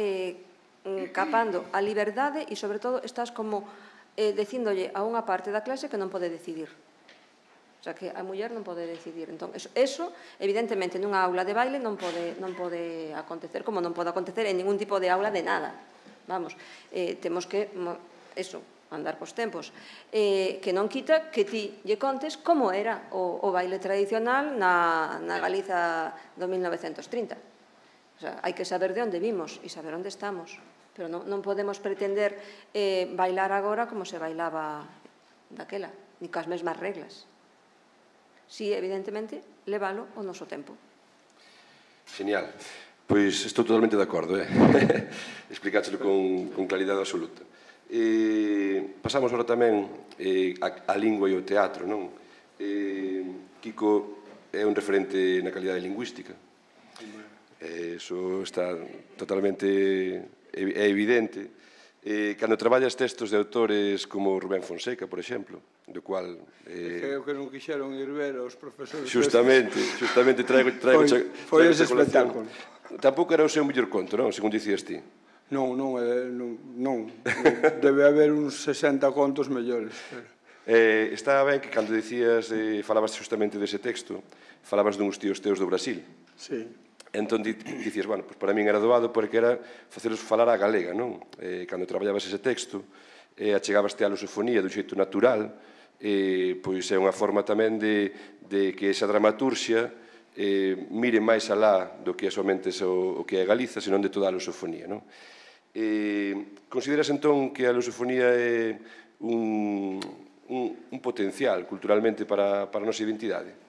capando a liberdade e, sobre todo, estás como dicíndolle a unha parte da clase que non pode decidir. O sea, que a muller non pode decidir. Entón, eso, evidentemente, nunha aula de baile non pode acontecer, como non pode acontecer en ningún tipo de aula de nada. Vamos, temos que, eso, andar cos tempos. Que non quita que ti lle contes como era o baile tradicional na Galiza do 1930. O sea, hai que saber de onde vimos e saber onde estamos. Pero non podemos pretender bailar agora como se bailaba daquela, ni coas mesmas reglas. Si, evidentemente, leválo ao noso tempo. Genial. Pois estou totalmente de acordo, explicáchelo con claridade absoluta. Pasamos agora tamén a lingua e o teatro, non? Kiko é un referente na calidade lingüística. Eso está totalmente evidente. Cando traballas textos de autores como Rubén Fonseca, por exemplo, do cual... É o que non quixeron ir ver os profesores. Justamente traigo foi ese espectáculo. Tampouco era o seu mellor conto, non? Según dicías ti. Non. Debe haber uns 60 contos mellores. Estaba ben que cando dicías, falabas justamente dese texto, falabas duns tíos teus do Brasil. Sí. Entón dicías, bueno, para min era doado porque era faceros falar a galega, non? Cando traballabas ese texto, achegabaste a lusofonía dun xeito natural, pois é unha forma tamén de que esa dramaturxia mire máis alá do que é somente o que é Galiza, senón de toda a lusofonía, non? Consideras entón que a lusofonía é un potencial culturalmente para a nosa identidade?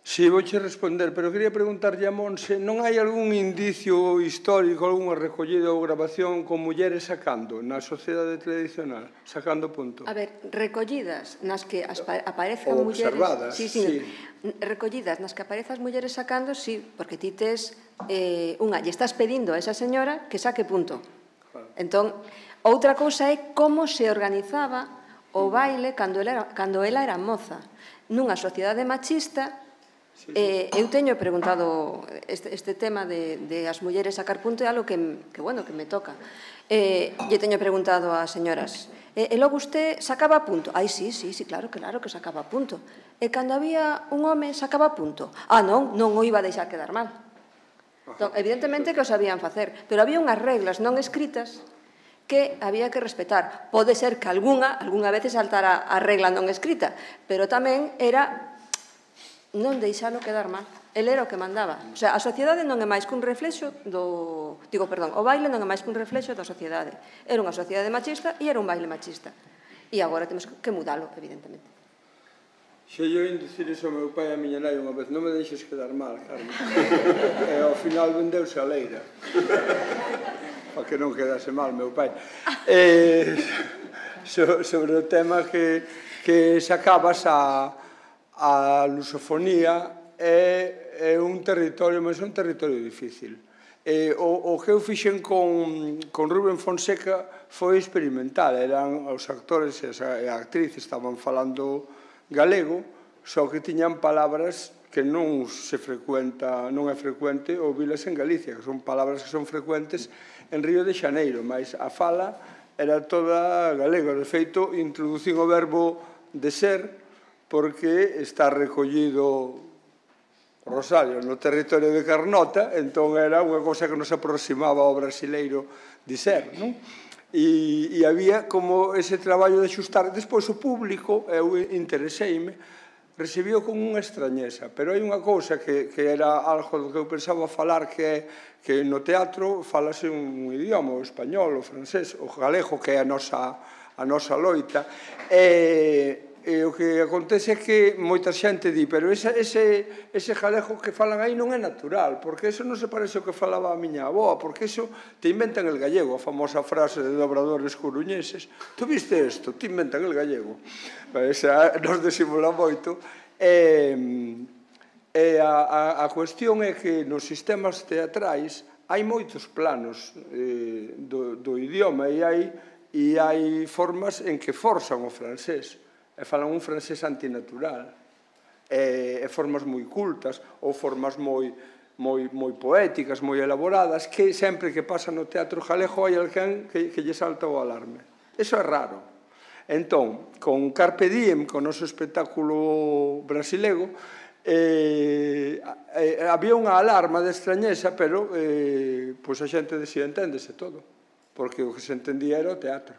Si, vouche responder, pero quería preguntarlle a Monse, non hai algún indicio histórico, algunha recollida ou grabación con mulleres sacando na sociedade tradicional, sacando punto? A ver, recollidas nas que aparezcan ou mulleres... observadas, sí. Recollidas nas que aparezas mulleres sacando, sí, porque ti tes unha, lle estás pedindo a esa señora que saque punto. Entón, outra cousa é como se organizaba o baile cando ela era moza. Nunha sociedade machista... Eu teño preguntado este tema de as mulleres sacar punto, é algo que me toca. Lle teño preguntado ás señoras, e logo usted sacaba punto? Ai, sí, claro que sacaba punto. E cando había un home sacaba punto? Non o iba a deixar quedar mal. Evidentemente que o sabían facer, pero había unhas reglas non escritas que había que respetar. Pode ser que algunha vez saltara a regla non escrita, pero tamén era non deixalo quedar mal. El era o que mandaba. O sea, a sociedade non é máis que un reflexo do... o baile non é máis que un reflexo da sociedade. Era unha sociedade machista e era un baile machista. E agora temos que mudalo, evidentemente. Xe yo en dicir iso ao meu pai e a miña nai unha vez, non me deixes quedar mal, Carmen. E ao final vendeuse a leira. Para que non quedase mal, meu pai. Sobre o tema que sacabas a lusofonía é un territorio, mas é un territorio difícil. O que eu fixen con Rubén Fonseca foi experimental. Eran os actores e a actriz estaban falando galego, só que tiñan palabras que non é frecuente ouvilas en Galicia, que son palabras que son frecuentes en Río de Xaneiro, mas a fala era toda galega. De feito, introducín o verbo de ser, porque está recollido Rosario no territorio de Carnota, entón era unha cosa que nos aproximaba ao brasileiro de ser, non? E había como ese traballo de xustar. Despois o público, eu intereseime, recibiu con unha extrañeza, pero hai unha cousa que era algo do que eu pensaba falar, que no teatro falase un idioma, o español, o francés, o galego, que é a nosa loita, E o que acontece é que moita xente di, pero ese galego que falan aí non é natural, porque eso non se parece ao que falaba a miña avoa, porque eso te inventan el gallego, a famosa frase de dobradores coruñeses. Tu viste isto? Te inventan el gallego. Esa nos disimula moito. E a cuestión é que nos sistemas teatrais hai moitos planos do idioma e hai e hai formas en que forzan o francés, e falan un francés antinatural, e formas moi cultas, ou formas moi poéticas, moi elaboradas, que sempre que pasa no teatro galego hai alguén que lle salta o alarme. Eso é raro. Entón, con Carpe Diem, con o noso espectáculo brasilego, había unha alarma de extrañeza, pero a xente decía, enténdese todo, porque o que se entendía era o teatro.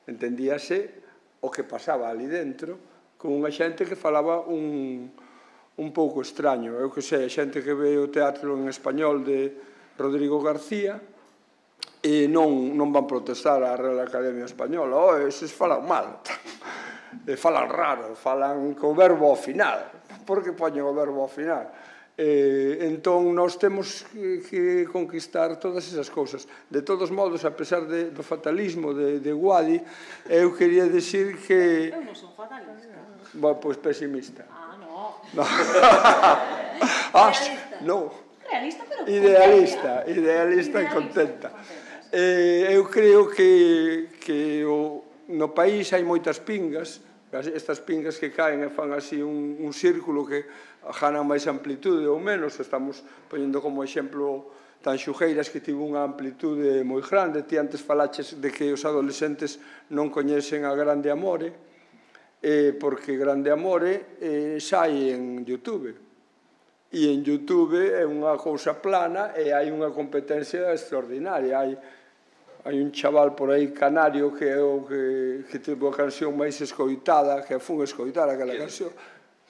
Entendíase o que pasaba ali dentro, con unha xente que falaba un pouco extraño. Eu que sei, a xente que ve o teatro en español de Rodrigo García e non van protestar a Real Academia Española, eses falan mal, falan raro, falan co verbo ao final. Por que poñen o verbo ao final? Entón, nós temos que conquistar todas esas cousas. De todos modos, a pesar do fatalismo de Guadi, eu quería decir que... Eu non son fatalista. Pois pesimista. No. Non. Realista, pero contenta. Idealista e contenta. Eu creo que no país hai moitas pingas, estas pingas que caen e fan así un círculo que ganan máis amplitude ou menos. Estamos poñendo como exemplo Tanxugueiras, que tivo unha amplitude moi grande. Ti antes falaches de que os adolescentes non coñecen a Grande Amore, porque Grande Amore sai en YouTube. E en YouTube é unha cousa plana e hai unha competencia extraordinaria. Hai un chaval por aí canario que é o que tivo a canción máis escoitada, que fun escoitar aquela canción.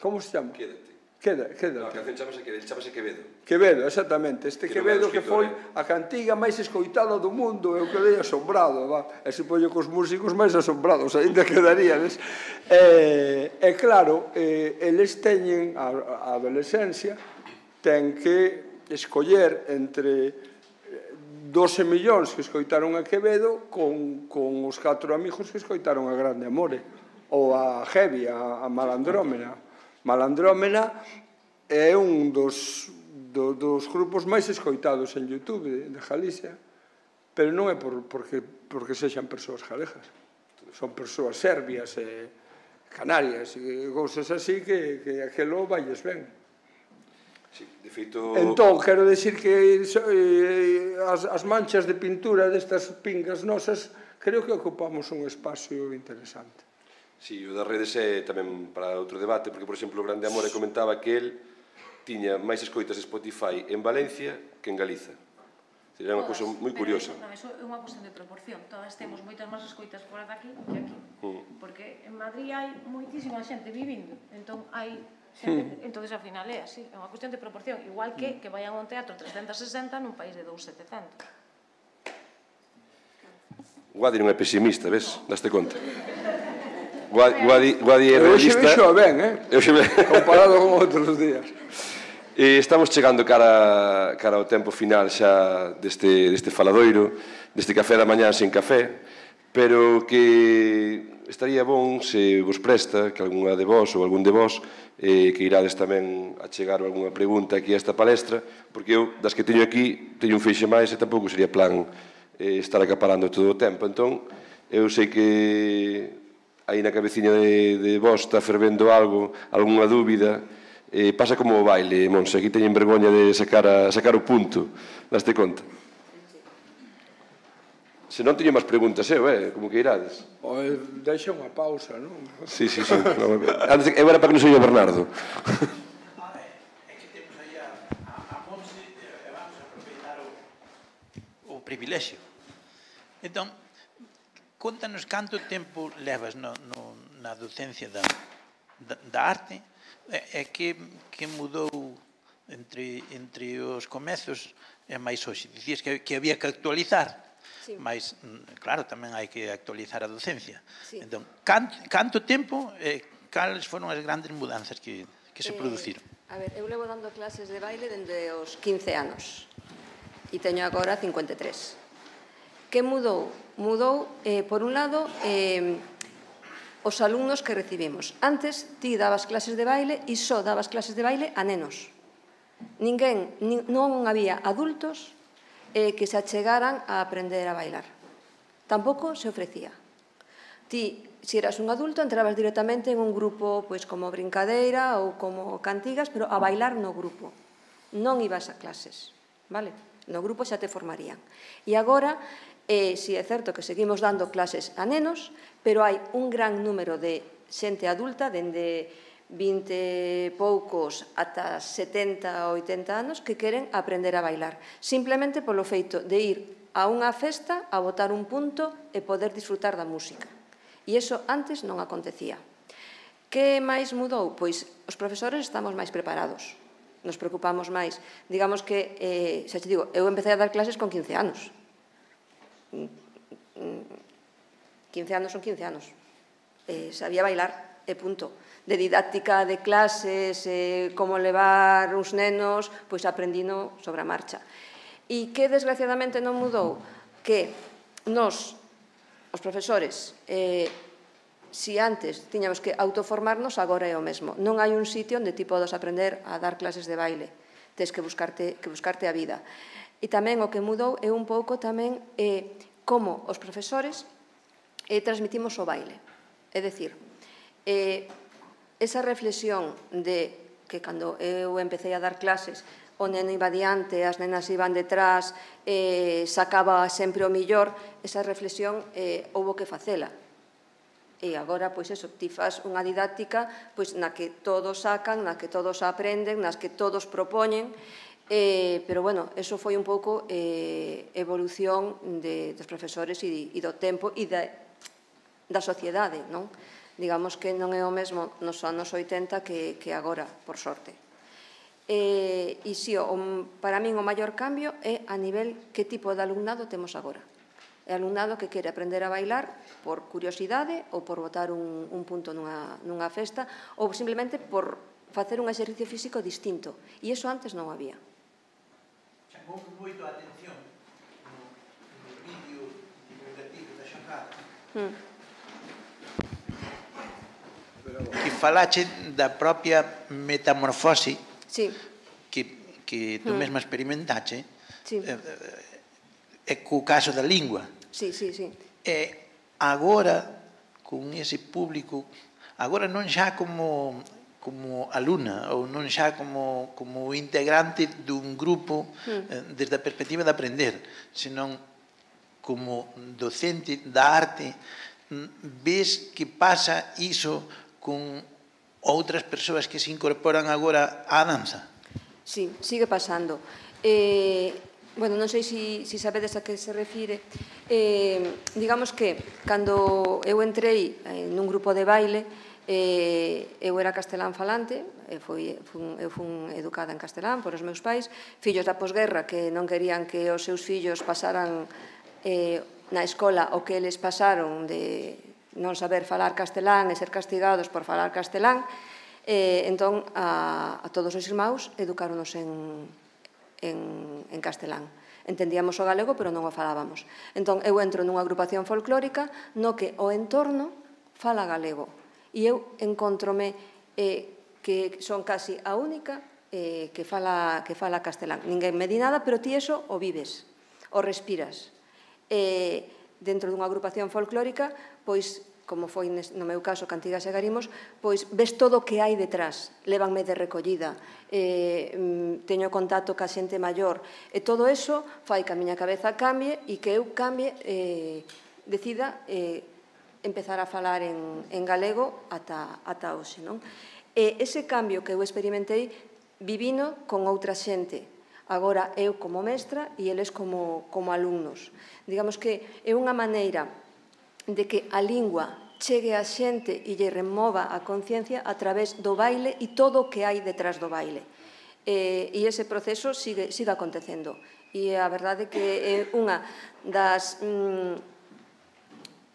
Como se chama? Quédate. A canción chamase Quevedo. Quevedo, exactamente. Este Quevedo que foi a cantiga máis escoitada do mundo, eu quedei asombrado. E se poño cos músicos máis asombrados, ainda quedaríades. E claro, eles teñen, a adolescencia, ten que escoller entre 12 millóns que escoitaron a Quevedo con os 4 amigos que escoitaron a Grande Amore, ou a Heavy, a Malandrómena. Malandrómena é un dos grupos máis escoitados en YouTube de Galicia, pero non é porque sexan persoas galegas, son persoas serbias e canarias e cousas así que aquelo valles ben. Sí, de feito... Entón, quero dicir que as manchas de pintura destas pingas nosas creo que ocupamos un espacio interesante. Sí, o das redes é tamén para outro debate, porque, por exemplo, o Grande Amore comentaba que el tiña máis escoitas de Spotify en Valencia que en Galiza. Era unha cousa moi curiosa. Non, iso é unha cuestión de proporción. Todas temos moitas máis escoitas fora daqui que aquí. Porque en Madrid hai moitísima xente vivindo. Entón, hai xente... Entón, ao final é así. É unha cuestión de proporción. Igual que vayan a un teatro 360 nun país de 2.700. Guadi non é pesimista, ves? Daste conta. Guadi é realista... Eu xe vexo ben, comparado con outros días. Estamos chegando cara ao tempo final xa deste faladoiro, deste café da mañá sen café, pero que estaría bon se vos presta que algunha de vos ou algún de vos que irades tamén a chegar algunha pregunta aquí a esta palestra, porque eu, das que teño aquí, teño un feixe máis e tampouco sería plan estar acaparando todo o tempo. Entón, eu sei que aí na cabeciña de vos está fervendo algo, algunha dúbida. Pasa como o baile, Monse, aquí teñen vergoña de sacar o punto, daste conta? Se non teño máis preguntas, como que irades. Deixa unha pausa, non? Sí. Eu era para que non se oia Bernardo. É que temos aí a Monse e vamos a aproveitar o privilexio. Entón, contanos canto tempo levas na docencia da arte e que mudou entre os comezos e máis hoxe. Dicías que había que actualizar, mas, claro, tamén hai que actualizar a docencia. Entón, canto tempo e cales foron as grandes mudanzas que se produciron? A ver, eu levo dando clases de baile dende os 15 anos e teño agora 53. Que mudou? Mudou, por un lado, os alumnos que recibimos. Antes, ti dabas clases de baile e só dabas clases de baile a nenos. Non había adultos que se achegaran a aprender a bailar. tampouco se ofrecía. Ti, se eras un adulto, entrabas directamente en un grupo pois como brincadeira ou como cantigas, pero a bailar no grupo. Non ibas a clases, vale? No grupo xa te formarían. E agora, si é certo que seguimos dando clases a nenos, pero hai un gran número de xente adulta, dende 20 poucos ata 70 ou 80 anos, que queren aprender a bailar. Simplemente polo feito de ir a unha festa, a botar un punto e poder disfrutar da música. E iso antes non acontecía. Que máis mudou? Pois os profesores estamos máis preparados, nos preocupamos máis. Digamos que, xa te digo, eu empecé a dar clases con 15 anos. 15 anos son 15 anos. Sabía bailar, e punto. De didáctica de clases, como levar uns nenos, pois aprendino sobre a marcha. E que desgraciadamente non mudou? Que nos, os profesores, si antes tiñamos que autoformarnos, agora é o mesmo. Non hai un sitio onde ti podas aprender a dar clases de baile. Tens que buscarte a vida. E tamén o que mudou é un pouco tamén como os profesores transmitimos o baile. É dicir, esa reflexión de que cando eu empecé a dar clases, o neno iba diante, as nenas iban detrás, sacaba sempre o millor, esa reflexión houbo que facela. E agora, pois eso, ti faz unha didáctica na que todos sacan, na que todos aprenden, nas que todos propoñen, pero, bueno, eso foi un pouco evolución dos profesores e do tempo e da sociedade, non? Digamos que non é o mesmo nos anos 80 que agora, por sorte. E, si, para min o maior cambio é a nivel que tipo de alumnado temos agora. É alumnado que quere aprender a bailar por curiosidade ou por botar un punto nunha festa ou simplemente por facer un exercicio físico distinto. E iso antes non había. Chamou moito a atención no vídeo divulgativo da xornada que falache da propia metamorfose que tú mesma experimentache e co caso da lingua. E agora, con ese público, agora non xa como alumna ou non xa como integrante dun grupo desde a perspectiva de aprender, senón como docente da arte, ves que pasa iso con outras persoas que se incorporan agora á danza? Sí, sigue pasando. Bueno, non sei se sabedes a que se refire. Digamos que, cando eu entrei nun grupo de baile, eu era castelán falante, eu fun educada en castelán por os meus pais, fillos da posguerra que non querían que os seus fillos pasaran na escola o que eles pasaron de non saber falar castelán e ser castigados por falar castelán. Entón, a todos os irmãos educáronos en castelán. Entendíamos o galego, pero non o falábamos. Entón, eu entro nunha agrupación folclórica no que o entorno fala galego. E eu encontrome que son casi a única que fala castelán. Ninguén me di nada, pero ti eso o vives, o respiras. Dentro dunha agrupación folclórica, pois, como foi no meu caso Cantigas e Garimos, pois ves todo o que hai detrás. Lévanme de recollida, teño contacto ca xente maior, e todo eso fai que a miña cabeza cambie e que eu cambie, decida empezar a falar en galego ata hoxe, non? Ese cambio que eu experimentei vivino con outra xente. Agora eu como mestra e eles como alumnos. Digamos que é unha maneira de que a lingua chegue a xente e lle remova a conciencia a través do baile e todo o que hai detrás do baile. E ese proceso sigue acontecendo. E a verdade que é unha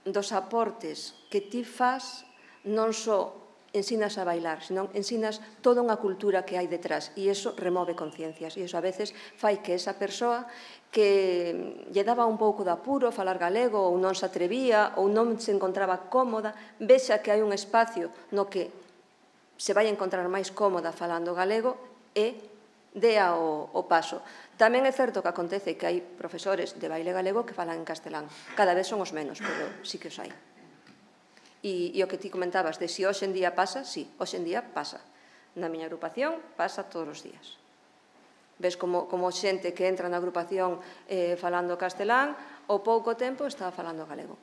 dos aportes que ti fas non só ensinas a bailar, senón ensinas toda unha cultura que hai detrás e iso remove conciencias e iso a veces fai que esa persoa que lle daba un pouco de apuro falar galego ou non se atrevía ou non se encontraba cómoda, vexa que hai un espacio no que se vai encontrar máis cómoda falando galego e dea o paso. Tamén é certo que acontece que hai profesores de baile galego que falan en castelán. Cada vez son os menos, pero sí que os hai. E o que ti comentabas de si hoxe en día pasa, sí, hoxe en día pasa. Na miña agrupación pasa todos os días. Ves como xente que entra na agrupación falando castelán, ao pouco tempo está falando galego.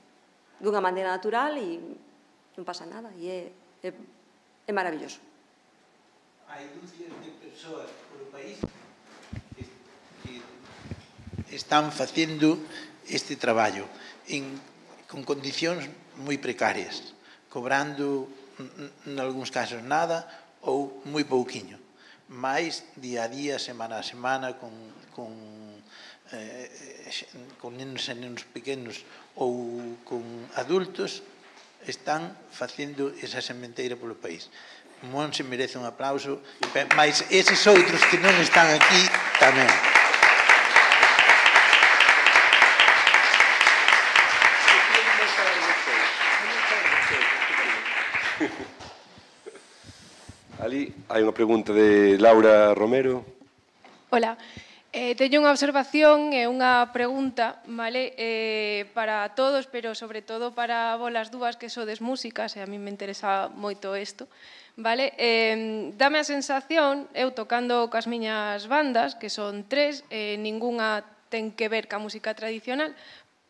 Dunha maneira natural e non pasa nada, e é maravilloso. Hai dúcias de persoas polo país que están facendo este traballo con condicións moi precarias, cobrando, en algúns casos, nada ou moi pouquiño. Mais, día a día, semana a semana, con nenos e nenos pequenos ou con adultos, están facendo esa sementeira polo país. Monse merece un aplauso, mas eses outros que non están aquí tamén. Ali hai unha pregunta de Laura Romero. Hola. Teño unha observación e unha pregunta, vale, para todos, pero sobre todo para vos as dúas que sodes músicas, e a mí me interesa moito isto, vale? Dame a sensación, eu tocando cas miñas bandas, que son 3, ningunha ten que ver ca música tradicional,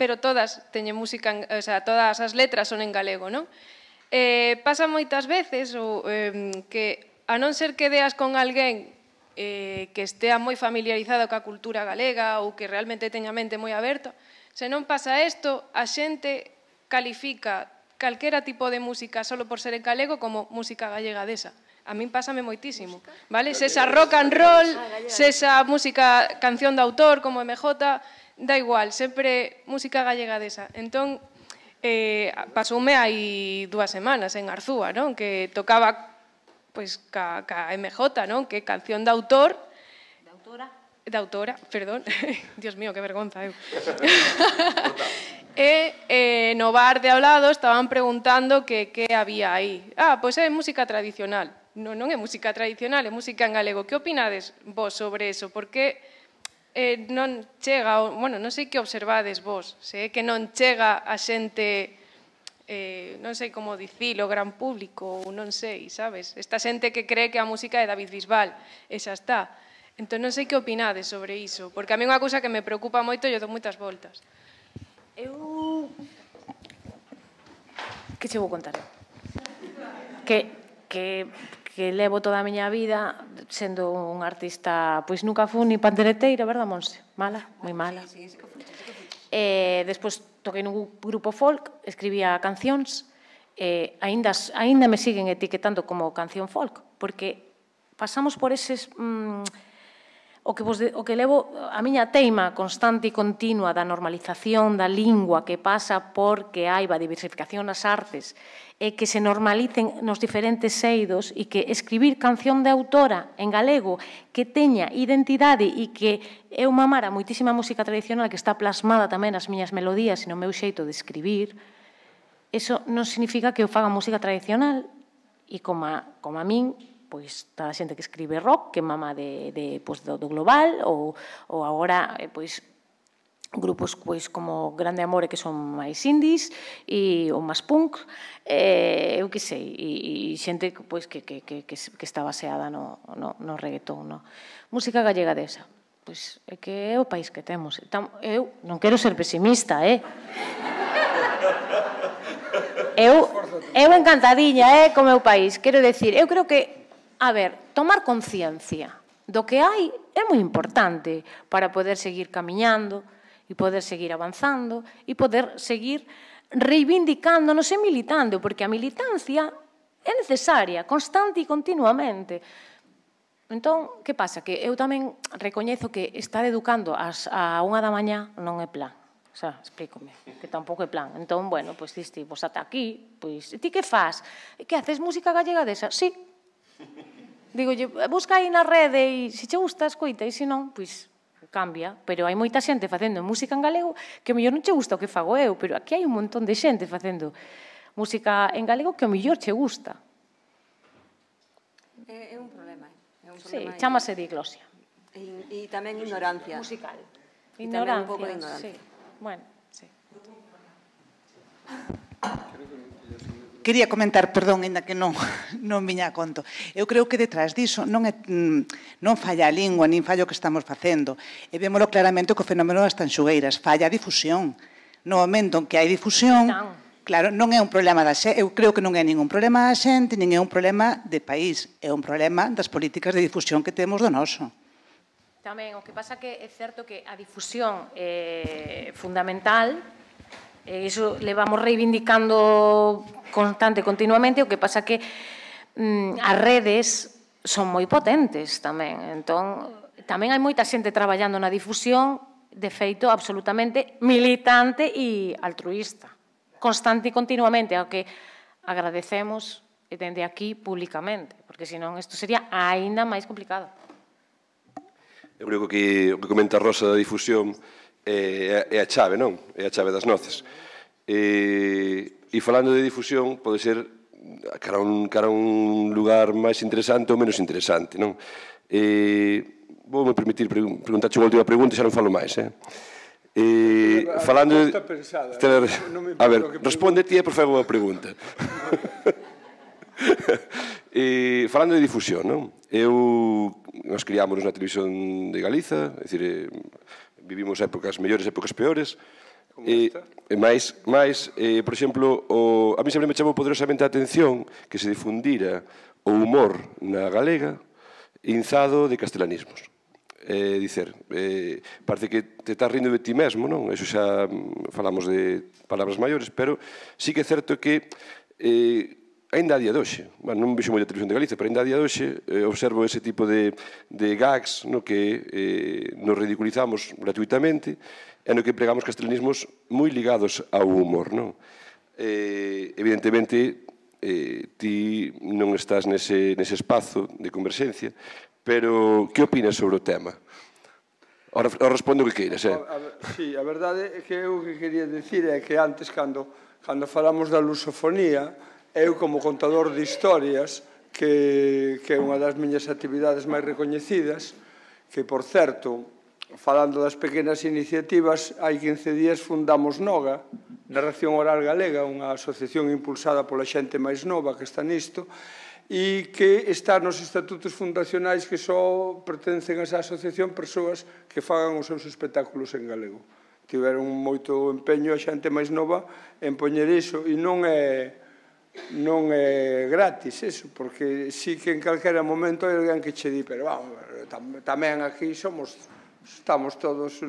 pero todas teñen música, o sea, todas as letras son en galego, non? Pasa moitas veces que, a non ser que deas con alguén que estea moi familiarizado ca cultura galega ou que realmente teña a mente moi aberta, se non pasa isto, a xente califica calquera tipo de música solo por ser en galego como música gallega desa. A min pásame moitísimo, vale? Se esa rock and roll, se esa música, canción de autor como MJ, da igual, sempre música gallega desa. Entón, pasoume hai 2 semanas en Arzúa, non? Que tocaba pois ca MJ, non? Que canción de autor. De autora, perdón. Dios mío, que vergonza, eu. E no bar de ao lado estaban preguntando que había aí. Pois é música tradicional. Non é música tradicional, é música en galego. Que opinades vos sobre eso? Porque non chega, bueno, non sei que observades vos, se é que non chega a xente, non sei como dicilo, gran público, ou non sei, sabes? Esta xente que cree que a música é David Bisbal, e xa está. Entón non sei que opinades sobre iso, porque a mí unha cousa que me preocupa moito e eu dou moitas voltas. Eu... Que che vou contar? Que levo toda a miña vida sendo un artista, pois nunca fui ni pandereteira, verdad, Monse? Mala, moi mala. Despois toquei nun grupo folk, escribía cancións, aínda me siguen etiquetando como canción folk, porque pasamos por eses... O que levo a miña teima constante e continua da normalización da lingua que pasa porque hai a diversificación nas artes e que se normalicen nos diferentes eidos e que escribir canción de autora en galego que teña identidade e que eu mamara moitísima música tradicional que está plasmada tamén nas miñas melodías e no meu xeito de escribir, eso non significa que eu faga música tradicional e como a min pois toda a xente que escribe rock, que mama do global, ou agora grupos como Grande Amore, que son máis indies, ou máis punk, eu que sei, e xente que está baseada no reggaetón. Música gallega desa, pois é que é o país que temos. Eu non quero ser pesimista, eu encantadiña co meu país, quero decir, eu creo que a ver, tomar conciencia do que hai é moi importante para poder seguir camiñando e poder seguir avanzando e poder seguir reivindicándonos e militando, porque a militancia é necesaria, constante e continuamente. Entón, que pasa? Que eu tamén recoñezo que estar educando a 1 da mañá non é plan. O sea, explícome, que tampouco é plan. Entón, bueno, pois diste, pois ata aquí, pois, ti que faz? Que haces música gallega desa? Sí. Digo, busca aí na rede e se che gusta, escoita, e se non, pois cambia. Pero hai moita xente facendo música en galego que ao mellor non che gusta o que fago eu, pero aquí hai un montón de xente facendo música en galego que ao mellor che gusta. É un problema, Sí, chámase diglosia. E tamén ignorancia. Musical. E tamén un pouco de Ignorancia, ignorancia. sí. Bueno, sí. Quería comentar, perdón, ainda que non viña a conto. Eu creo que detrás diso non falla a lingua, nin falla o que estamos facendo. E vémolo claramente co fenómeno das tanxugueiras. Falla a difusión. No momento en que hai difusión, claro, non é un problema da xente. Eu creo que non é ningún problema da xente, nin é un problema de país. É un problema das políticas de difusión que temos do noso. Tamén, o que pasa que é certo que a difusión é fundamental, e iso levamos reivindicando continuamente, o que pasa que as redes son moi potentes tamén, entón tamén hai moita xente traballando na difusión, de feito absolutamente militante e altruísta, constante e continuamente, ao que agradecemos e dende aquí públicamente, porque senón isto sería aínda máis complicado. Eu creo que o que comenta Rosa da difusión é a chave, non? É a chave das noces. E falando de difusión, pode ser cara a un lugar máis interesante ou menos interesante, non? Vou me permitir preguntarche unha última pregunta e xa non falo máis, falando de... A ver, responde ti e por favor a pregunta. Falando de difusión, non? Nós criámonos na televisión de Galiza, é dicir, vivimos épocas mellores, épocas peores, por exemplo, a mí sempre me chamou poderosamente a atención que se difundira o humor na galega inzado de castelanismos. Dicer, parece que te estás rindo de ti mesmo, non? Eso xa falamos de palabras maiores, pero sí que é certo que ainda a día de hoxe, non vexo moita televisión de Galicia, pero ainda a día de hoxe observo ese tipo de gags que nos ridiculizamos gratuitamente e no que empregamos castelanismos moi ligados ao humor, non? Evidentemente, ti non estás nese espazo de converxencia, pero que opinas sobre o tema? Ahora responde o que queiras, Sí, a verdade é que eu o que quería dicir é que antes, cando falamos da lusofonía, eu como contador de historias, que é unha das miñas actividades máis recoñecidas, que, por certo, falando das pequenas iniciativas, hai 15 días fundamos NOGA, Narración Oral Galega, unha asociación impulsada pola xente máis nova que está nisto, e que está nos estatutos fundacionais que só pertencen a esa asociación persoas que fagan os seus espectáculos en galego. Tiveron moito empeño a xente máis nova en poñer iso, e non é gratis eso, porque sí que en calquera momento hai alguén que che di, pero tamén aquí estamos todos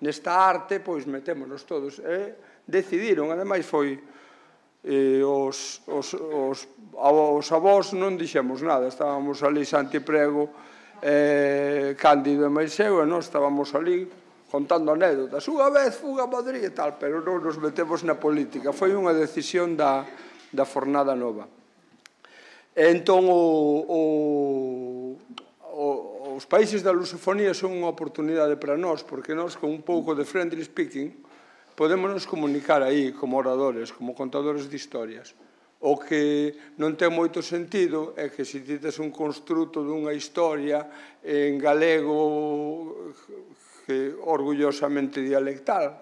nesta arte, pois metémonos todos. Decidiron, ademais foi os avós non dixemos nada, estábamos ali Santi Prego, Cándido e máis eu, e nós estábamos ali contando anécdotas, unha vez fuga a Madrid e tal, pero non nos metemos na política, foi unha decisión da Fornada Nova. Entón, os países da lusofonía son unha oportunidade para nós, porque nós, con un pouco de friendly speaking, podemos nos comunicar aí como oradores, como contadores de historias. O que non ten moito sentido é que se ti tes un construto dunha historia en galego que orgullosamente dialectal,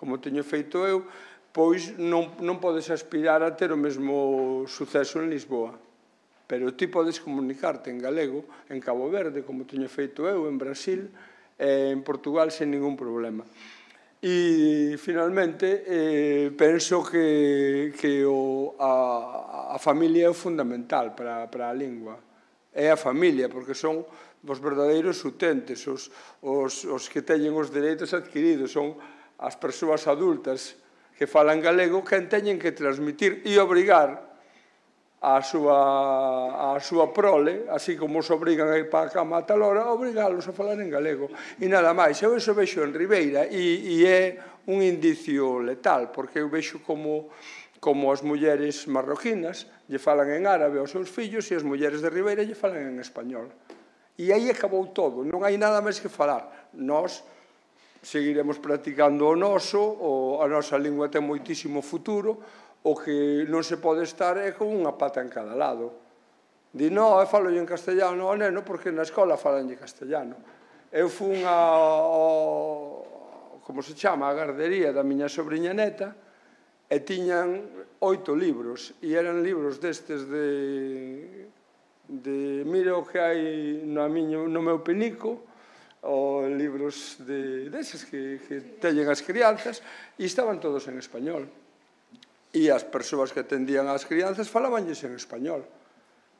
como teño feito eu, pois non podes aspirar a ter o mesmo suceso en Lisboa. Pero ti podes comunicarte en galego, en Cabo Verde, como teño feito eu, en Brasil, en Portugal, sen ningún problema. E, finalmente, penso que a familia é fundamental para a lingua. É a familia, porque son os verdadeiros utentes, os que teñen os dereitos adquiridos, son as persoas adultas que falan galego, que teñen que transmitir e obrigar a súa prole, así como os obrigan a ir para a cama a tal hora, obrigalos a falar en galego. E nada máis, eu iso vexo en Ribeira, e é un indicio letal, porque eu vexo como as mulleres marroquinas lle falan en árabe aos seus fillos e as mulleres de Ribeira lle falan en español. E aí acabou todo, non hai nada máis que falar. Nós seguiremos practicando o noso, a nosa lingua ten moitísimo futuro, o que non se pode estar é con unha pata en cada lado. Di, no, eu falo en castellano ao neno porque na escola falanlle castellano. Eu fun como se chama, a gardería da miña sobrinha neta e tiñan 8 libros e eran libros destes de mira o que hai no meu penico, ou libros deses que teñen as crianzas, e estaban todos en español. E as persoas que atendían as crianzas falabanlles en español.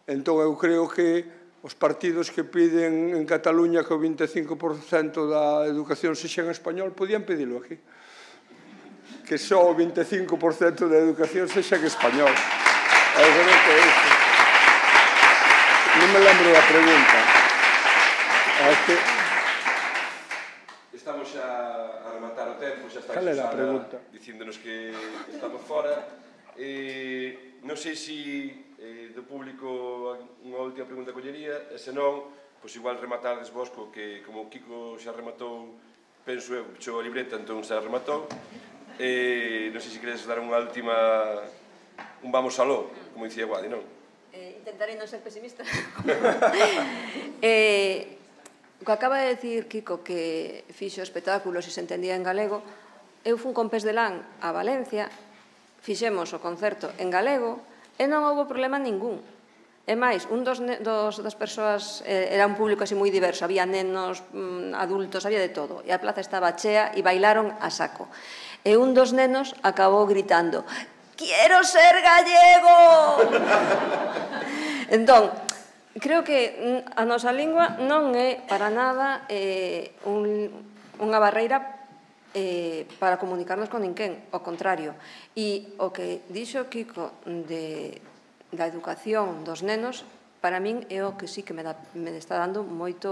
Entón, eu creo que os partidos que piden en Cataluña que o 25% da educación sexa en español, podían pedilo aquí. Que só o 25% da educación sexa en español. Eu creo que é iso. Non me lembro da pregunta. Estamos xa a rematar o tempo, xa está Susana dicíndonos que estamos fora. Non sei se do público unha última pregunta collería, e senón, pois igual rematades vos que como Kiko xa rematou, penso eu, pechou a libreta, entón xa rematou. Non sei se queres dar unha última, un vamos aló, como dicía Guadi, non? Intentarei non ser pesimista. O que acaba de decir Kiko, que fixo espectáculos e se entendía en galego, eu fun con Pés de Lán a Valencia, fixemos o concerto en galego e non houve problema ningún. E máis, un das persoas era un público así moi diverso, había nenos, adultos, había de todo, e a plaza estaba chea e bailaron a saco. E un dos nenos acabou gritando: "Quiero ser gallego!" Entón, creo que a nosa lingua non é para nada unha barreira para comunicarnos con ninguén, ao contrario. E o que dixo Kiko da educación dos nenos, para min é o que sí que me está dando moita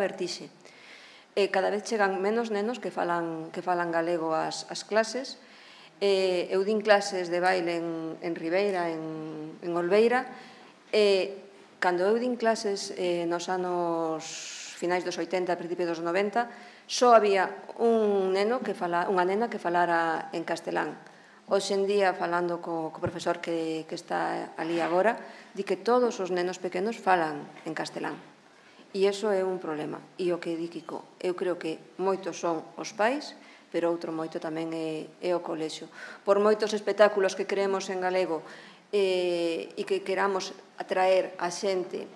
vertixe. Cada vez chegan menos nenos que falan galego ás clases. Eu din clases de baile en Ribeira, en Olveira, e cando eu din clases nos anos finais dos 80, principios dos 90, só había unha nena que falara en castelán. Hoxe en día, falando co profesor que está ali agora, di que todos os nenos pequenos falan en castelán. E iso é un problema. E o que di Kiko, eu creo que moitos son os pais, pero outro moito tamén é o colexio. Por moitos espectáculos que creemos en galego e que queramos atraer a xente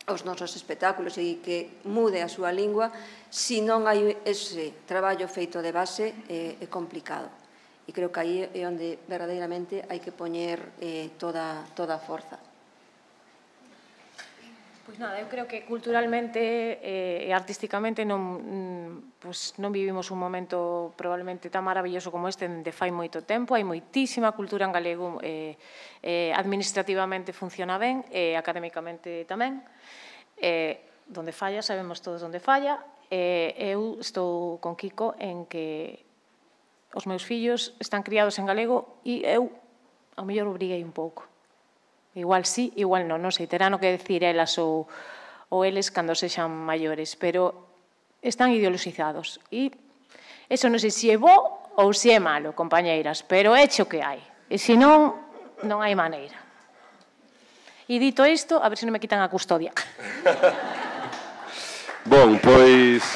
aos nosos espectáculos e que mude a súa lingua, se non hai ese traballo feito de base, é complicado. E creo que aí é onde verdadeiramente hai que poñer toda a forza. Pois nada, eu creo que culturalmente e artísticamente non vivimos un momento probablemente tan maravilloso como este dende fai moito tempo. Hai moitísima cultura en galego, administrativamente funciona ben, e académicamente tamén. Donde falla, sabemos todos onde falla. Eu estou con Kiko en que os meus fillos están criados en galego e eu, ao mellor, obriguei un pouco. Igual sí, igual non sei, terán o que decir elas ou eles cando sexan maiores, pero están ideoloxizados. E eso non sei se é bo ou se é malo, compañeiras, pero é o que hai. E se non, non hai maneira. E dito isto, a ver se non me quitan a custodia. Bon, pois...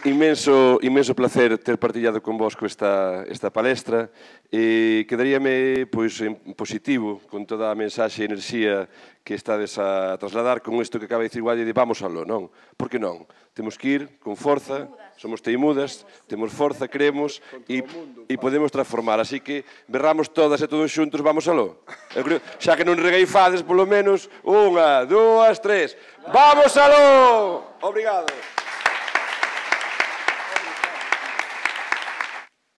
Inmenso placer ter partillado con vos esta palestra. Quedaríame en positivo con toda a mensaxe e enerxía que estades a trasladar con isto que acaba de dicir Guadi de vamos aló, non? Por que non? Temos que ir con forza, somos teimudas, temos forza, creemos e podemos transformar. Así que berramos todas e todos xuntos, vamos aló. Xa que non regaifades, polo menos, 1, 2, 3. Vamos aló! Obrigado.